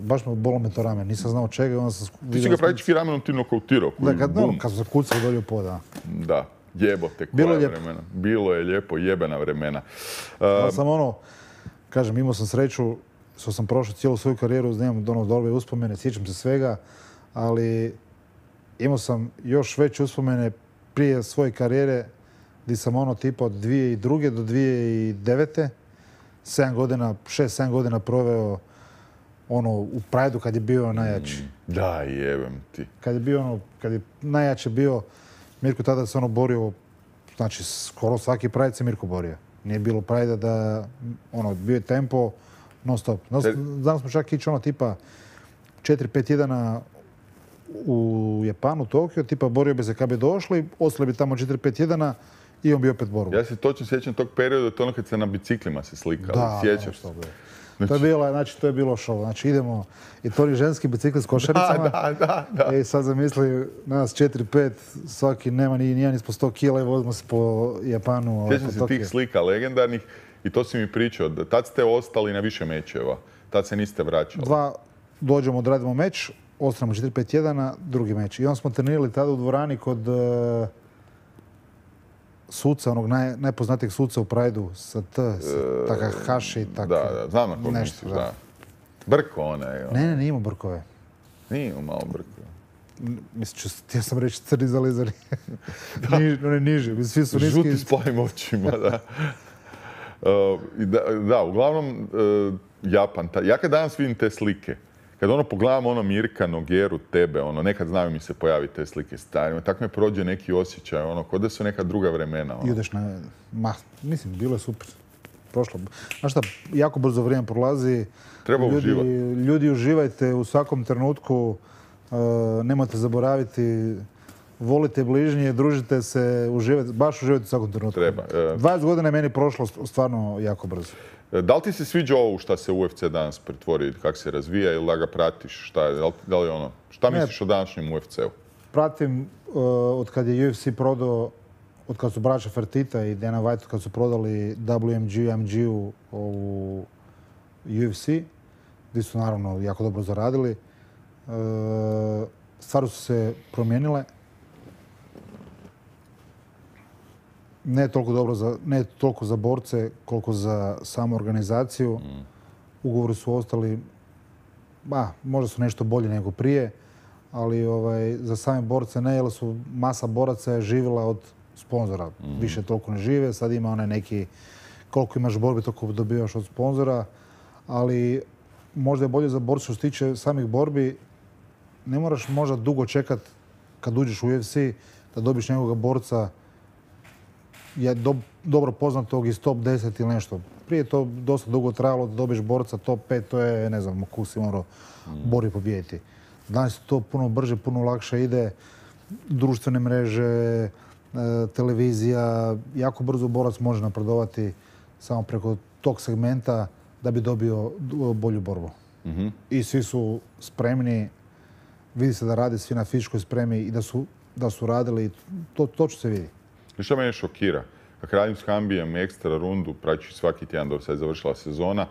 baš me bolo me to rame, nisam znao čega. Onda sam ti si ga praktički ramenom ti nokautirao. Da, kad sam zakucao dolje u pod, da. Da, jebote, koja vremena. Bilo je lijepo, jebena vremena. Ja sam kažem, imao sam sreću, što sam prošao cijelu svoju karijeru, nemam dobre uspomene, sjećam se svega, ali imao sam još veće uspomene prije svoje karijere, gdje sam tipa od 2002. do 2009. 6-7 godina proveo u Prideu kad je bio najjači. Da, jebem ti. Kad je najjače bio, Mirko tada se borio, znači skoro svaki Pride se Mirko borio. Nije bilo Pride da, bio je tempo non stop. Znam smo čak ići tipa 4-5 tjedana u Japanu, Tokio, tipa borio bi se kad bi došli, ostali bi tamo 4-5 tjedana i on bi opet borio. Ja se točno sjećam tog perioda, to kad se na biciklima se slikali, sjećaš se. To je bilo show. Znači idemo, i to je ženski bicikli s košaricama. Da. I sad zamisli nas 4-5, svaki nema nijedan ispod 100 kila i vozimo se po Japanu. Sjećam se tih slika legendarnih i to si mi pričao. Tad ste ostali na više mečeva. Tad se niste vraćali. Dođemo, odradimo meč, ostanemo 4-5 tjedana, drugi meč. I onda smo trenirali tada u dvorani kod suca, onog najpoznatijeg suca u Prideu, sa Takahashi. Da, znam na koga misliš, da. Brko onaj. Ne, nije imao brkove. Nije imao malo brkove. Mislim, htio sam reći crni zalizari. One niže, svi su niski. Žuti s plavim očima, da. Da, uglavnom, Japan. Ja kad danas vidim te slike, kad pogledam Mirka, Nogeru, tebe, nekad znaju mi se pojaviti te slike starima, tako me prođe neki osjećaj, ko da su neka druga vremena. Ideš mislim, bilo je super. Prošlo. Znaš šta, jako brzo vrijeme prolazi. Treba uživati. Ljudi, uživajte u svakom trenutku, nemojte zaboraviti, volite bližnje, družite se, baš uživajte u svakom trenutku. Treba. 20 godina je meni prošlo stvarno jako brzo. Da li ti se sviđa ovo šta se UFC danas pretvori, kako se razvija ili da ga pratiš? Šta misliš o današnjem UFC-u? Pratim od kad je UFC prodao, od kad su braća Fertitta i Dana White, kad su prodali WMG, MG-u u UFC, gdje su naravno jako dobro zaradili. Stvari su se promijenile. Ne toliko za borce, koliko za samu organizaciju. Ugovori su ostali, možda su nešto bolje nego prije, ali za same borce ne, jer su masa boraca je živjela od sponzora. Više toliko ne žive, sad ima neki, koliko imaš borbi, toliko dobivaš od sponzora, ali možda je bolje za borce što se tiče samih borbi. Ne moraš možda dugo čekat kad uđeš u UFC da dobiš nekoga borca je dobro poznatog iz top 10 ili nešto. Prije je to dosta dugo trajalo da dobiješ borca top 5, to je, ne znam, ko si morao bori pobijediti. Danas to puno brže, puno lakše ide. Društvene mreže, televizija, jako brzo borac može napredovati samo preko tog segmenta da bi dobio bolju borbu. I svi su spremni Vidi se da rade svi na fizičkoj spremi i da su radili. To će se vidi. I što mene šokira? Kako radim s Hambijem ekstra rundu, praćući svaki tjedan dok se je završila sezona,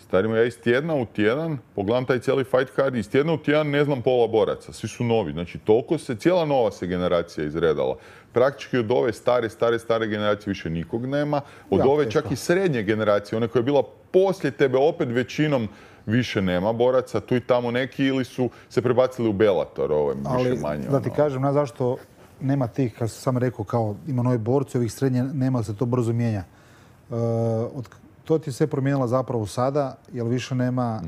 starimo ja iz tjedna u tjedan, pogledam taj cijeli fight card, iz tjedna u tjedan ne znam pola boraca, svi su novi. Znači, toliko cijela nova se generacija izredala. Praktički od ove stare generacije više nikog nema. Od ove čak i srednje generacije, one koja je bila poslije tebe, opet većinom više nema boraca. Tu i tamo neki ili su se prebacili u Bellator, više manje. Da ti kažem, na zašto nema tih, kao sam rekao, kao ima novi borci, ovih srednje nema, se to brzo mijenja. To ti se promijenilo zapravo sada, jer više nema,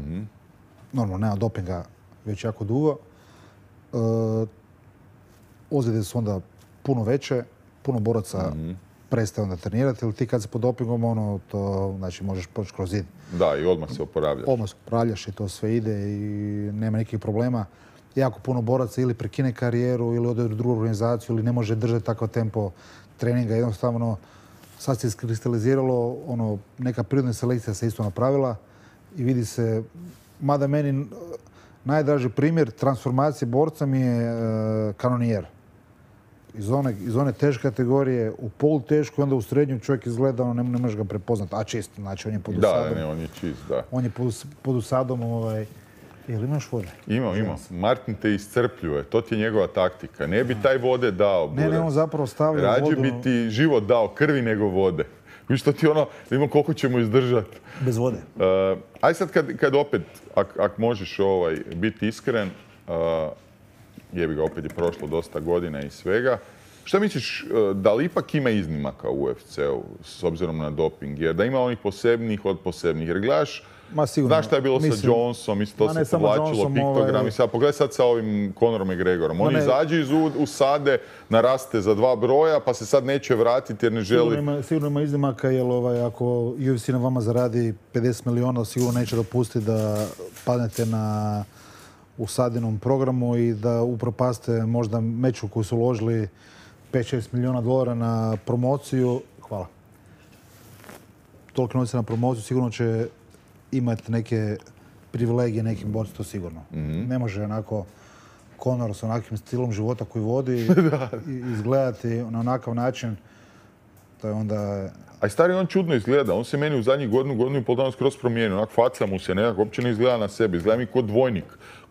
normalno nema dopinga već jako dugo. Ozljede su onda puno veće, puno boraca prestaje onda trenirati, jer ti kad se pod dopingom, to znači možeš proći kroz zid. Da, i odmah se oporavljaš. Odmah se oporavljaš i to sve ide i nema nekih problema. Jako puno boraca ili prekine karijeru ili ode u drugu organizaciju ili ne može držati takav tempo treninga. Jednostavno, sad se iskristaliziralo, neka prirodna selekcija se isto napravila i vidi se, mada meni najdraži primjer transformacije borca mi je kanonijer. Iz one teške kategorije u polutešku, onda u srednju čovjek izgleda, ne možeš ga prepoznati, a čist, znači on je pod usadom. Da, ne, on je čist, da. On je pod usadom, jel imaš vode? Imam. Martin te iscrpljuje, to ti je njegova taktika. Ne bi taj vode dao, Burac. Ne, on zapravo stavlja vodu. Rađe bi ti život dao krvi nego vode. Viš to ti da imamo koliko ćemo izdržati. Bez vode. Aj sad kad opet, ak možeš biti iskren, jebi ga, opet je prošlo dosta godina i svega. Šta misliš, da li ipak ima iznimaka u UFC-u s obzirom na doping? Jer da ima onih posebnih od posebnih. Jer gledaš, znaš šta je bilo sa Jonesom, isto to se povlačilo, piktogram. Pogledaj sad sa ovim Conorom McGregorom. On izađe iz usade, naraste za 2 broja, pa se sad neće vratiti jer ne želi... Sigurno ima iznimaka, jer ako UFC na vama zaradi 50 miliona, sigurno neće dopustiti da padnete na usadinom programu i da upropaste možda meču koju su uložili 5-6 miliona dolara na promociju. Hvala. Toliko novca na promociju sigurno će imati neke privilegije nekim borci, to sigurno. Ne može onako Conor s onakvim stilom života koji vodi izgledati na onakav način. To je onda... A i stari on čudno izgleda. On se meni u zadnjih godinu i pol dana skroz promijenio. Onak faca mu se nekako, uopće ne izgleda na sebi. Izgleda mi kao dvojnik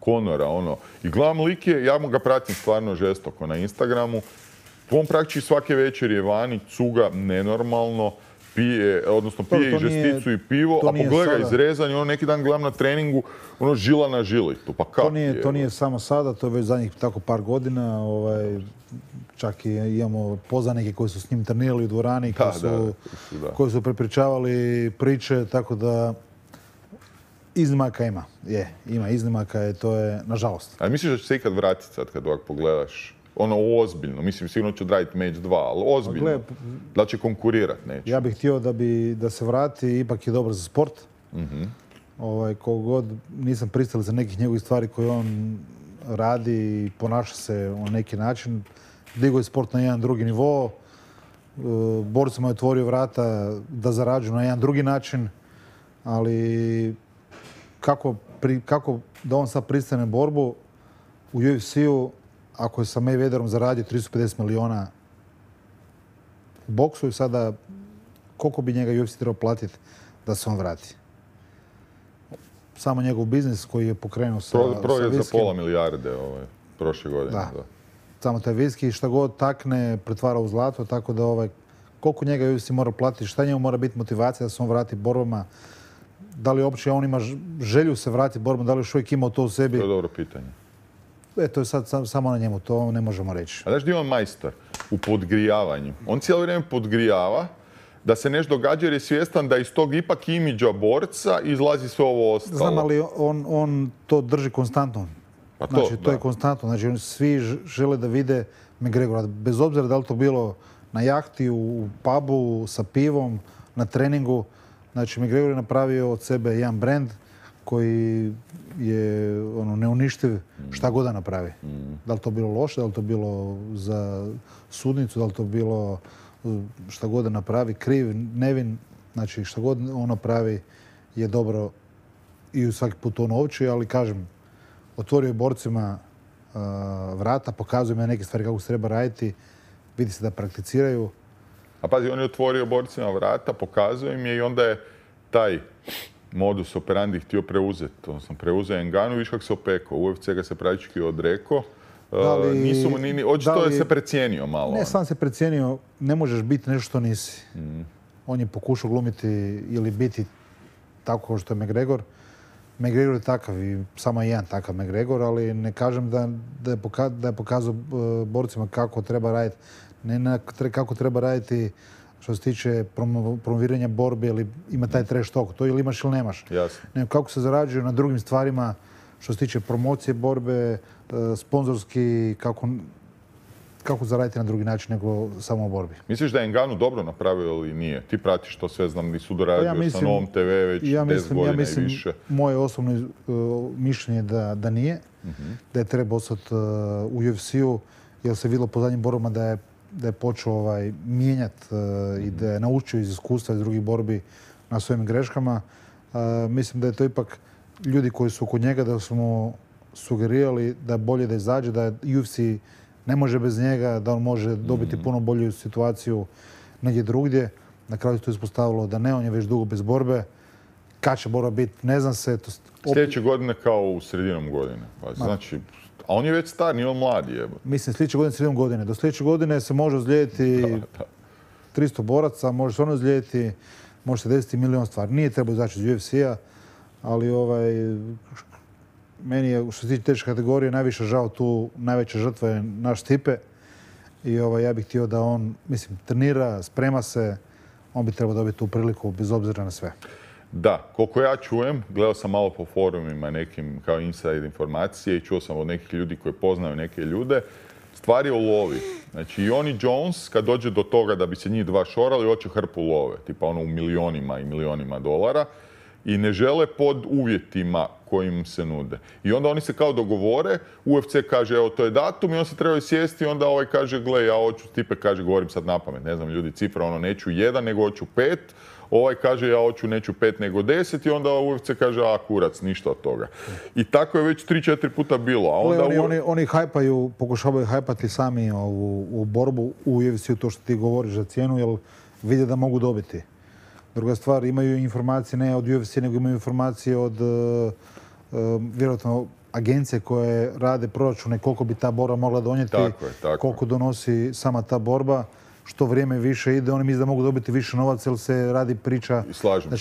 Conora, I gledam lik je, ja mu ga pratim stvarno žestoko na Instagramu. On praktički svake večer je vani, cuga nenormalno, pije i žesticu i pivo, a pogledaj ga izrezan i neki dan gledam na treningu, žila na žili. To nije samo sada, to je već zadnjih tako par godina. Čak i imamo poznanike koji su s njim trenirali u dvorani, koji su prepričavali priče, tako da iznimaka ima. Ima iznimaka i to je, nažalost. A misliš da će se ikad vratiti sad kad ovak pogledaš? Ozbiljno, mislim sigurno će odraditi meč 2, ali ozbiljno. Da će konkurirati neće. Ja bih htio da se vrati, ipak je dobar za sport. Koliko god nisam pristao za nekih njegovih stvari koje on radi i ponaša se na neki način. Digao je sport na jedan drugi nivo. Borcima je otvorio vrata da zarađuju na jedan drugi način. Ali kako da on sad pristane borbu u UFC-u ako je sa Mayweatherom zaradio 350 miliona u boksu i sada koliko bi njega UFC trebao platiti da se on vrati? Samo njegov biznis koji je pokrenuo sa Prodao je za pola milijarde prošle godine. Da. Samo taj viski šta god takne pretvara u zlato, tako da koliko njega UFC mora platiti, šta njemu mora biti motivacija da se on vrati borbama, da li uopće on ima želju se vratiti borbama, da li još uvijek ima to u sebi? To je dobro pitanje. To je sad samo na njemu, to ne možemo reći. A znaš gdje je on majstor? U podgrijavanju. On cijelo vrijeme podgrijava da se nešto događa jer je svjestan da iz tog ipak imidža borca izlazi sve ovo ostalo. Znam, ali on to drži konstantno. Znači, to je konstantno. Znači, svi žele da vide McGregora. Bez obzira da li to bilo na jahti, u pubu, sa pivom, na treningu. Znači, McGregor je napravio od sebe jedan brand koji je neuništiv šta god da napravi. Da li to bilo loše, da li to bilo za sudnicu, da li to bilo šta god da napravi, kriv, nevin. Znači, šta god on napravi je dobro i svaki put on ovči, ali kažem, otvorio je borcima vrata, pokazuju me neke stvari kako se treba raditi, vidi se da prakticiraju. A pazi, on je otvorio borcima vrata, pokazuje im je i onda je taj modus operandi htio preuzeti. Odnosno, preuzeo Nganu, viš kako se opekao. UFC ga se praktički odrekao. Očito je se precijenio malo. Ne, sam se precijenio, ne možeš biti nešto što nisi. On je pokušao glumiti ili biti tako kao što je McGregor. McGregor je takav i samo jedan takav McGregor, ali ne kažem da je pokazao borcima kako treba raditi. Ne kako treba raditi što se tiče promoviranja borbe ili ima taj trash talk. To ili imaš ili nemaš. Jasno. Ne, kako se zarađuje na drugim stvarima što se tiče promocije borbe, sponzorski, kako zaraditi na drugi način nego samo u borbi. Misliš da je Ngannou dobro napravio ili nije? Ti pratiš to sve, znam, nisu doradio sa Novom TV već 10 godina i više. Moje osobno mišljenje da nije, da je treba ostati u UFC-u, jer se vidjelo po zadnjim borbama da je počeo mijenjati i da je naučio iz iskustva iz drugih borbi na svojim greškama. Mislim da je to ipak ljudi koji su kod njega da su mu sugerirali da je bolje da izađe, da UFC ne može bez njega, da on može dobiti puno bolju situaciju negdje drugdje. Na kraju se to ispostavilo da ne, on je već dugo bez borbe. Kad će borba biti, ne znam se. Sljedeće godine kao u sredinom godine. Znači, a on je već star, nije on mladi. Mislim, sljedeće godine sredinom godine. Do sljedeće godine se može ozlijediti 300 boraca, može se ono ozlijediti, može se desiti milion stvari. Nije trebao izaći iz UFC-a, ali meni je, što se tiče teške kategorije, najviše žao tu, najveća žrtva je naš Stipe. I ja bih htio da on, mislim, trenira, sprema se, on bi trebao dobiti tu priliku bez obzira na sve. Da, koliko ja čujem, gledao sam malo po forumima nekim kao inside informacije i čuo sam od nekih ljudi koji poznaju neke ljude, stvar je u lovi. Znači i on i Jones, kad dođe do toga da bi se njih dva šorali, hoće hrpu love, tipa ono u milionima i milionima dolara. I ne žele pod uvjetima kojim se nude. I onda oni se kao dogovore, UFC kaže evo to je datum i on se trebaju sjesti i onda ovaj kaže gle ja hoću, Stipe kaže govorim sad napamet, ne znam ljudi cifra, ono neću 1 nego hoću 5, ovaj kaže ja hoću neću 5 nego 10 i onda UFC kaže a kurac, ništa od toga. I tako je već 3-4 puta bilo. A onda oni hajpaju, pokušavaju hajpati sami u borbu u UFC-u to što ti govoriš za cijenu jer vide da mogu dobiti. Druga stvar, imaju informacije ne od UFC, nego imaju informacije od vjerojatno agencije koje rade proračune koliko bi ta borba mogla donijeti, tako. Koliko donosi sama ta borba. Što vrijeme više ide, oni misle da mogu dobiti više novaca jer se radi priča da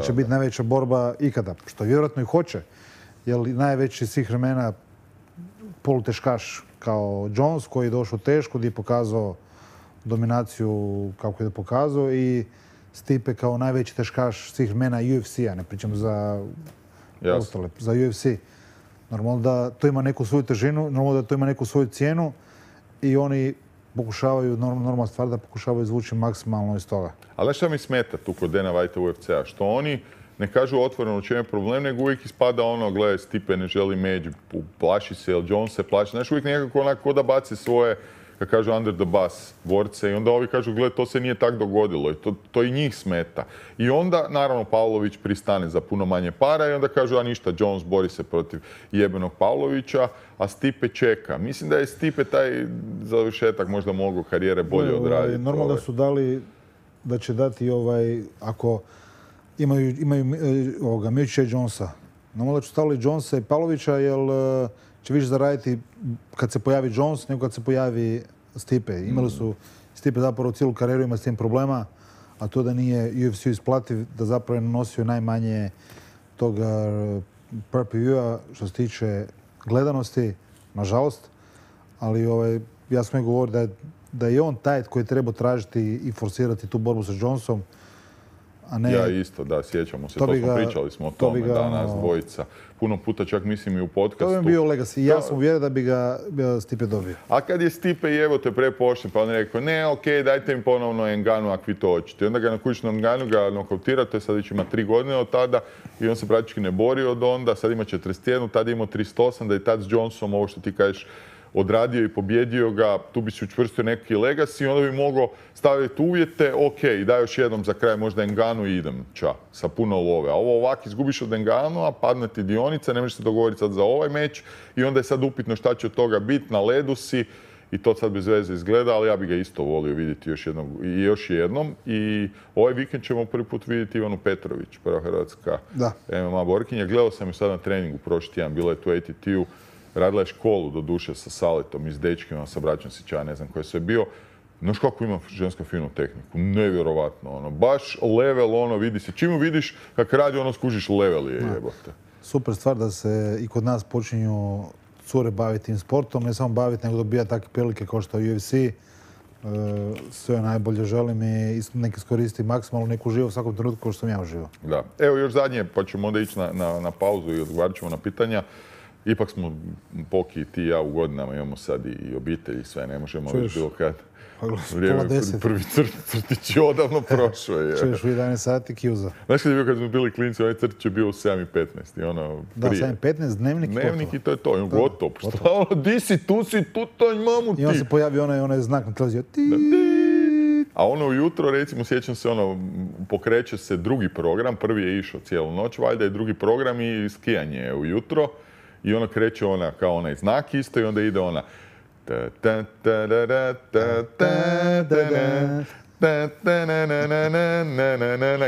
će biti najveća borba ikada. Što vjerojatno i hoće, jer najveći svih vremena poluteškaš kao Jones koji je došao teško, gdje je pokazao dominaciju kako je pokazao i Stipe kao najveći teškaš svih vremena UFC-a, ne pričamo za ostale, za UFC. Normalno da to ima neku svoju težinu, normalno da to ima neku svoju cijenu i oni pokušavaju, normalna stvar da pokušavaju izvući maksimalno iz toga. Ali šta mi smeta tu kod Dana Whitea UFC-a? Što oni ne kažu otvoreno u čem je problem, nego uvijek ispada ono, gledaj, Stipe ne želi među, plaši se, jer Jones se plaši. Znaš, uvijek nekako onako da baci svoje, kako kažu, under the bus borce i onda ovi kažu, gledaj, to se nije tak dogodilo i to i njih smeta. I onda, naravno, Pavlović pristane za puno manje para i onda kažu, a ništa, Jones bori se protiv jebenog Pavlovića, a Stipe čeka. Mislim da je Stipe taj završetak možda mogao karijere bolje odraditi. Normalno da su dali, da će dati ako imaju Miocića i Jonesa. Normalno da će stavili Jonesa i Pavlovića, jer će više zaraditi kad se pojavi Jones nego kad se pojavi Stipe. Imali su Stipe zapravo cijelu karijeru, ima s tim problema, a to da nije UFC isplativ, da zapravo je nanosio najmanje toga pay-per-view-a što se tiče gledanosti, nažalost. Ali ja sam joj govorio da je on taj koji treba tražiti i forsirati tu borbu sa Jonesom. Ja isto, da, sjećamo se. Pričali smo o tome danas dvojica. Puno puta čak mislim i u podcastu. To bi bio legacy. Ja sam uvjeren da bi ga Stipe dobio. A kad je Stipe i evo te prepošten, pa on je rekao, ne, okej, dajte mi ponovno Ngannou ako vi to hoćete. I onda ga na kućnom Ngannou ga nokautirate, sad već ima 3 godine od tada i on se praktički ne bori od onda, sad ima 41, tada ima 38, da je tad s Jonesom, ovo što ti kažeš, odradio i pobjedio ga, tu bi si učvrstio neki legacy, onda bi mogao staviti uvjete, ok, daj još jednom za kraj možda Enganu i idem, sa puno love. A ovo ovak izgubiš od Enganu, a padne ti dionica, ne možeš se dogovoriti sad za ovaj meč i onda je sad upitno šta će od toga biti, na ledu si i to sad bez veze izgleda, ali ja bi ga isto volio vidjeti još jednom. I ovaj vikend ćemo prvi put vidjeti Ivanu Petrović, prva hrvatska MMA borkinja. Gledao sam ju sad na treningu prošli tjedan, bila je tu ATT-u, radila je školu do duše sa Saletom i s dečkima, sa braćom Sića, ne znam ko je sve bio. Znaš kako ima ženska finu tehniku, nevjerovatno, baš level, vidi se. Čim ju vidiš, kak radi, skužiš level je jebote. Super stvar da se i kod nas počinju cure baviti tim sportom, ne samo baviti, nego dobija takve prilike kao što je UFC. Sve najbolje želim i nek iskoristi maksimalno, neku živo u svakom trenutku kao što sam ja uživao. Da. Evo još zadnje, pa ćemo onda ići na pauzu i odgovarat ćemo na pitanja. Ipak smo, Poki, ti i ja u godinama, imamo sad i obitelj i sve, ne možemo već bilo kad. Vrijeme, prvi crtić je odavno prošao. Čuješ u 11 sati kjuza. Znaš kad je bio kad smo bili klinci, onaj crtić je bio u 7:15 i ono prije. Da, 7:15, dnevnik i gotovo. Dnevnik i to je to, i gotovo. Šta di si, tu si, tu to mamu ti. I on se pojavio onaj znak na televiziju. A ujutro, recimo, sjećam se, pokreće se drugi program, prvi je išao cijelu noć, valjda je drugi program i skijanje je ujutro. I kreće kao onaj znak isto i onda ide ona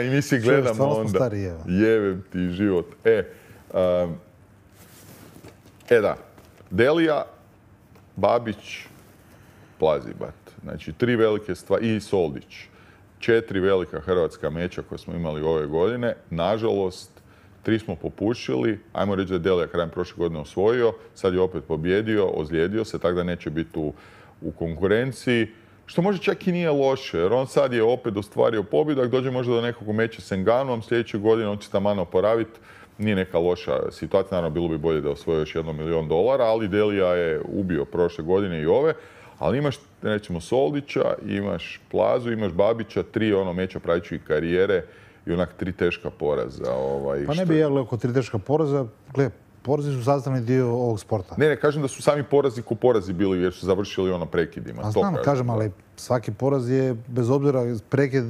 i mi si gledamo onda. Jebem ti život. Da. Delija, Babić, Plazibat. Znači, 3 velike stvari. I Soldić. 4 velika hrvatska meča koje smo imali ove godine. Nažalost, 3 smo popušili, ajmo reći da je Delija krajem prošle godine osvojio, sad je opet pobjedio, ozlijedio se, tako da neće biti u konkurenciji. Što možda čak i nije loše, jer on sad je opet ostvario pobjedak, dođe možda do nekog meča s Enganom, sljedeće godine on će taman oporaviti. Nije neka loša situacija, naravno bilo bi bolje da osvoji još $1 milion, ali Delija je ubio prošle godine i ove. Ali imaš, recimo, Soldića, imaš Plazu, imaš Babića, 3 meča pravičke karijere, i 3 teška poraza. Pa ne bi ja gledao oko 3 teška poraza. Gle, porazi su sastavni dio ovog sporta. Ne kažem da su sami porazi ko porazi bili jer su završili prekidima. A znam, kažem, ali svaki poraz je, bez obzira, prekid,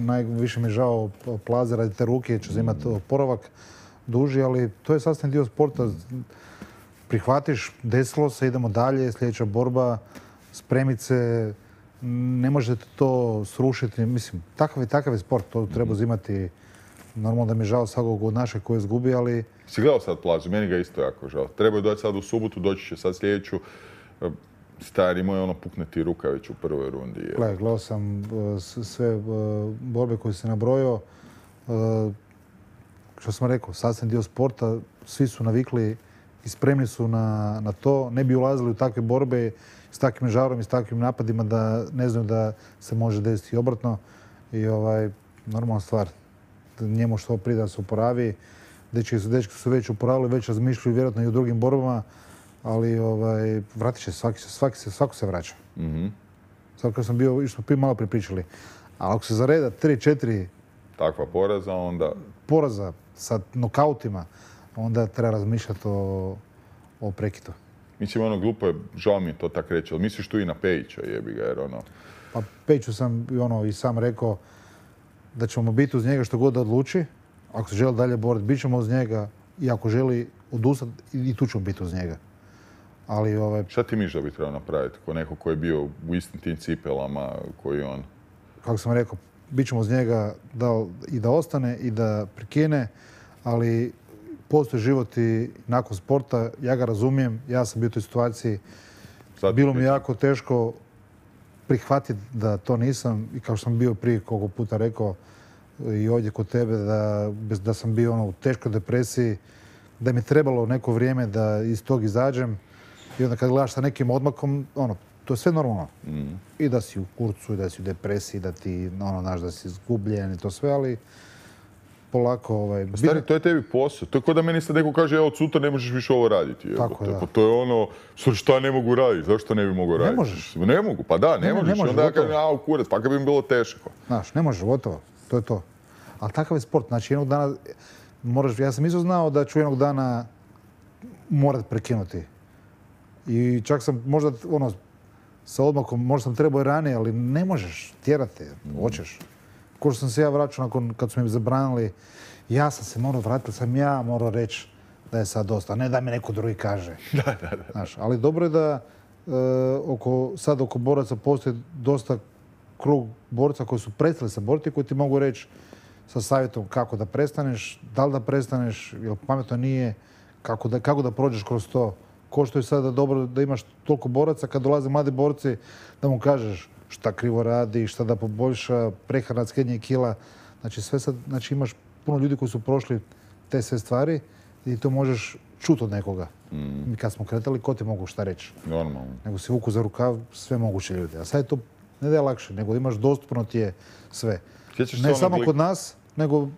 najviše mi je žao Plaze radi te ruke, će imati oporavak duži, ali to je sastavni dio sporta. Prihvatiš, desilo se, idemo dalje, sljedeća borba, spremit se, ne možete to srušiti. Mislim, takav je sport, to treba uzimati. Normalno da mi je žao svakog od našeg koji je izgubi, ali... Si gledao sad Plazu? Meni ga isto jako žao. Trebaju doći sad u subotu, doći će sad sljedeću. Stari moj, pukne ti ruka već u prvoj rundi. Gledao sam sve borbe koje se nabrojao. Što sam rekao, sastavni dio sporta, svi su navikli i spremni su na to. Ne bi ulazili u takve borbe s takvim žarom i s takvim napadima da ne znaju da se može desiti obratno. I normalna stvar. Njemu što prije da se oporavi. Dečki su već oporavili, već razmišljaju vjerojatno i u drugim borbama, ali vratit će svako se vraća. Sad kad sam bio, što smo malo pripričali. Ali ako se zareda 3-4 takva poraza, onda... Poraza sa nokautima, onda treba razmišljati o prekidu. Mislim, glupo je, žao mi je to tako reći, ali misliš tu i na Pejića, jebi ga, jer Pa Pejiću sam i sam rekao da ćemo biti uz njega što god da odluči. Ako se želi dalje boriti, bit ćemo uz njega i ako želi odustati, i tu ćemo biti uz njega. Ali Šta ti misliš da bi trebao napraviti, ko neko koji je bio u istim tim cipelama koji on? Kako sam rekao, bit ćemo uz njega i da ostane i da prekine, ali postoji život i nakon sporta, ja ga razumijem, ja sam bio u toj situaciji. Bilo mi jako teško prihvatiti da to nisam i kao što sam bio prije koliko puta rekao i ovdje kod tebe da sam bio u teškoj depresiji, da mi je trebalo neko vrijeme da iz tog izađem i onda kad gledaš sa nekim odmakom, to je sve normalno. I da si u kurcu, i da si u depresiji, da ti, znaš, da si izgubljen i to sve, ali polako... Stari, to je tebi posao. To je kao da meni sad neko kaže, od sutra ne možeš više ovo raditi. Tako, da. To je šta ne mogu raditi? Zašto ne bi mogao raditi? Ne možeš. Ne mogu, pa da, ne možeš. Onda ja kažem, u kurac, pa kad bi mi bilo teško. Znaš, ne možeš, gotovo. To je to. Ali takav je sport. Znači, jednog dana ja sam isto znao da ću jednog dana morat prekinuti. I čak sam možda, sa odmakom, možda sam trebao i ranije, ali ne možeš, tjerati, hoćeš. Ko što sam se ja vraćao kad su mi zabranili, ja sam se morao vratiti, sam ja morao reći da je sad dosta, a ne da mi neko drugi kaže. Da. Znaš, ali dobro je da sad oko boraca postoji dosta krug borca koji su prestali se boriti, koji ti mogu reći sa savjetom kako da prestaneš, da li da prestaneš, jer pametno nije, kako da prođeš kroz to. Ko što je sada dobro da imaš toliko boraca, kad dolaze mladi borci, da mu kažeš šta krivo radi, šta da poboljša, prehrana, skenje kila. Znači sve sad, imaš puno ljudi koji su prošli te sve stvari i to možeš čuti od nekoga. Mi kad smo kretali, ko ti mogu šta reći? Normalno. Nego si vuku za rukav sve moguće ljudi. A sad je to ne da je lakše, nego imaš dostupno ti je sve. Ne samo kod nas, nego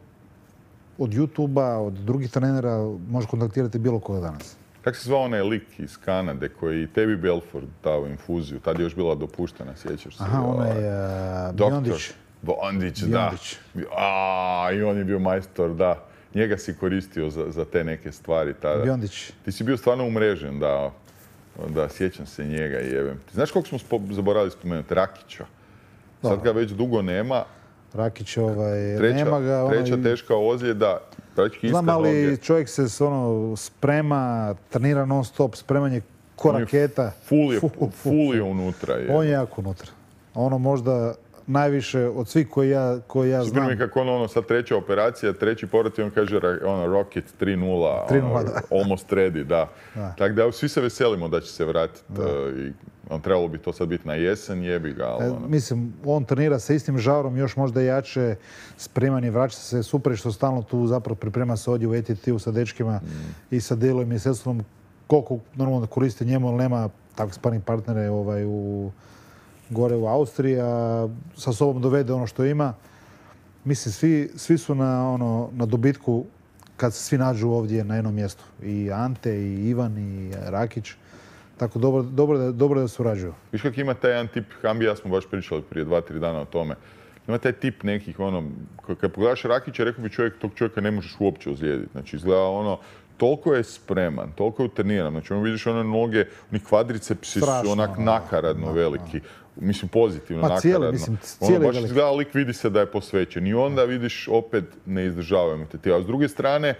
od YouTube-a, od drugih trenera možeš kontaktirati bilo koga danas. Kako se zvao onaj lik iz Kanade koji tebi Belfort dao infuziju? Tad je još bila dopuštena, sjećaš se? Aha, onaj Biondić. Biondić, da. I on je bio majstor, da. Njega si koristio za te neke stvari tada. Biondić. Ti si bio stvarno umrežen, da sjećam se njega i jebem. Ti znaš koliko smo zaboravili spomenuti? Rakića. Sad ga već dugo nema. Rakić, nema ga. Treća teška ozljeda. Znam, ali čovjek se sprema, trenira non stop, spremanje ko raketa. Ful je unutra. On je jako unutra. Ono možda najviše od svih koji ja znam. Super mi kako sad treća operacija, treći povrat i on kaže Rocket 3.0, almost ready, da. Tako da svi se veselimo da će se vratiti. Trebalo bi to sad biti na jesen, jebi ga. Mislim, on trenira sa istim žarom, još možda jače, spreman je, vraća se super što stalno tu zapravo priprema se ovdje u ATT-u sa dečkima i sa Delom i Seslom. Koliko normalno koristi njemu, ali nema takve sparring partnere gore u Austriji, a sa sobom dovede ono što ima. Mislim, svi su na dobitku kad se svi nađu ovdje na jednom mjestu. I Ante, i Ivan, i Rakić. Tako dobro da surađuju. Viš kak ima taj jedan tip, Hambi ja smo baš pričali prije 2-3 dana o tome. Ima taj tip nekih, kad pogledaš Rakića, rekao bi tog čovjeka ne možeš uopće ozlijediti. Znači, izgleda toliko je spreman, toliko je utreniran. Znači, vidiš one noge, oni kvadricepsi su onak nakaradno veliki. Mislim, pozitivno nakaradno. Baš izgleda lik, vidi se da je posvećen. I onda vidiš, opet ne izdržavaju te. A s druge strane,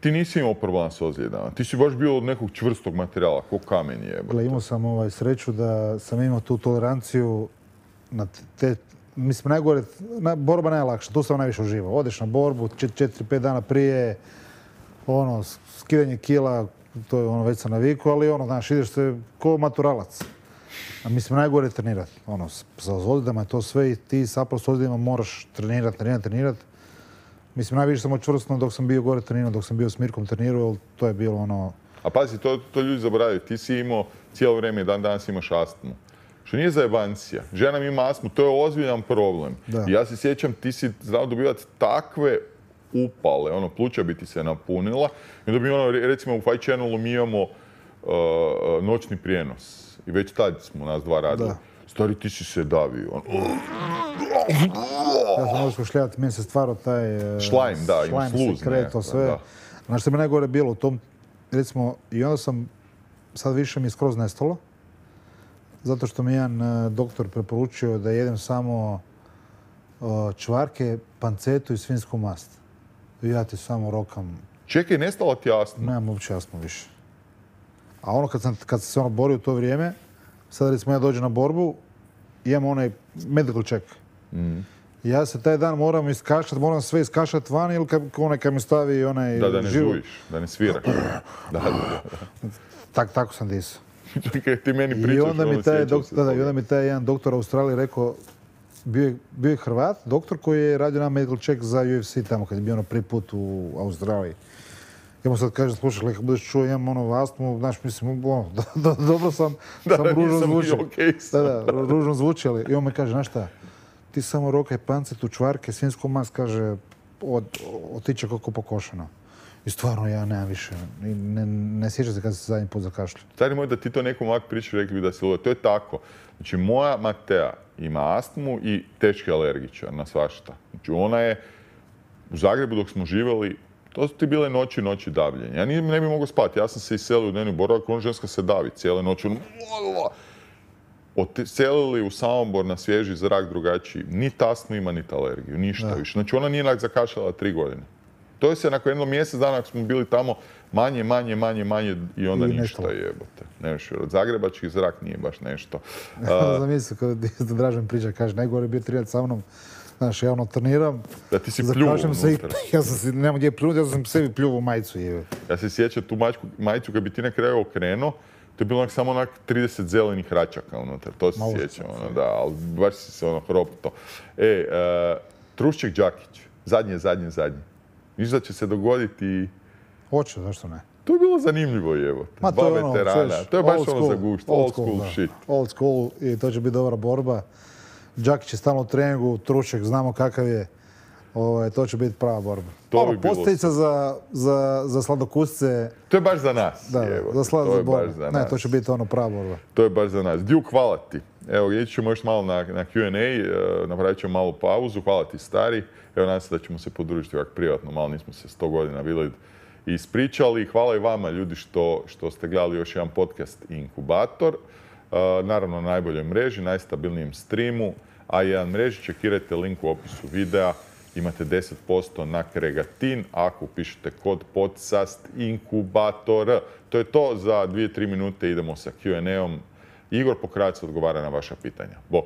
ti nisi imao problem s ozljedama. Ti si baš bio od nekog čvrstog materijala, ko kamen je. Imao sam sreću da sam imao tu toleranciju na te... Mislim, najgore, borba najlakša, tu sam najviše uživao. Odeš na borbu, 4-5 dana prije, skidanje kila, to je već sam navikao, ali znaš, ideš se ko maturalac. A mislim, najgore je trenirati. Sa ozljedama je to sve i ti zapravo s ozljedima moraš trenirati. Mislim, najviše sam očvrstno dok sam bio gore trenirao, dok sam bio s Mirkom trenirao, jer to je bilo A pazi, to ljudi zaboravljaju. Ti si imao cijelo vrijeme i dan danas imaš astmu. Što nije zajebancija. Žena mi ima astmu, to je ozbiljan problem. I ja se sjećam, ti si znao dobivati takve upale, pluća bi ti se napunila. I onda bi recimo u Fight Channelu mi imamo noćni prijenos. I već tad smo nas dva radili. Stari, ti si se davio. Ja sam možeš šljati, meni se stvarao taj šlajm, ima sluz. Sekret, sve. Znaš što mi najgore bilo u tom, recimo, i onda sam, sad više mi je skroz nestalo, zato što mi jedan doktor preporučio da jedem samo čvarke, pancetu i svinjsku mast. I ja ti samo rokam. Čekaj, nestala ti astma? Nemam uopće astmu više. A kad sam se borio u to vrijeme, sad recimo ja dođem na borbu, imam onaj medical check. Ja se taj dan moram iskašati, moram sve iskašati van ili kad mi stavi onaj da ne žujiš, da ne sviraš. Tako sam disao. Ti meni pričaš, I onda mi taj jedan doktor u Australiji rekao, bio je Hrvat, doktor koji je radio na medical check za UFC tamo kad je bio prvi put u Australiji. Ja mu sad kažem, slušaj, kad budeš čuo, imam astmu, znaš, mislim, dobro sam ružno zvučio. Ružno zvuči, ali i on me kaže, znaš šta, ti samo rokaj pancetu, čvarke, svinjsku mast, kaže, otiče kako pokošeno. I stvarno ja nemam više, ne sjećam se kad se zadnji put zakašljao. Stari moj, da ti to nekom ovak priču, rekli bi da se luda. To je tako. Znači, moja Matea ima astmu i teški alergičar na svašta. Znači, ona je u Zagrebu dok smo živjeli, To su ti bile noći davljenja. Ja ne bi mogao spati. Ja sam se iselio u dnevni boravak, ona ženska se davi cijele noći. Odselili u Samobor na svježi zrak drugačiji. Ni astmu ima, niti alergiju. Ništa više. Znači ona nije zakašljala 3 godine. To je se nakon jedno mjesec dana ako smo bili tamo manje i onda ništa jebote. Od zagrebački zrak nije baš nešto. Zamisli kada Dražen priča, kaže najgore biti trijat sa mnom. Znaš, ja treniram. Da ti si pljuo unutra. Ja sam si, nemam gdje pljunuti, ja sam sebi pljuo u majicu. Ja se sjećam tu majicu kad bi ti na kraju okrenuo, to je bilo samo 30 zelenih račaka unutra. To se sjećam, da, ali baš si se hropto. Trušček Đakić, zadnje. Viš da će se dogoditi... Hoće, zašto ne? To je bilo zanimljivo, evo. Dva veterana. To je baš za gušt. Old school shit. Old school i to će biti dobra borba. Đakić je stalno u treningu, Trušček znamo kakav je. To će biti prava borba. Posteljica za sladokusce. To je baš za nas. Da, za sladokusce. Ne, to će biti prava borba. To je baš za nas. Duke, hvala ti. Evo, ići ćemo još malo na Q&A, napravit ćemo malu pauzu. Hvala ti, stari. Evo, nadam se da ćemo se podružiti ovak privatno. Malo nismo se 100 godina bili i ispričali. Hvala i vama, ljudi, što ste gledali još jedan podcast Inkubator. Naravno, na najboljoj mreži, najstabilnijem streamu. A1 mreži, čekirajte link u opisu videa. Imate 10% na Kregatin ako upišete kod podcast Inkubator. To je to, za 2-3 minute idemo sa Q&A-om. Igor Pokrajac odgovara na vaša pitanja. Bok!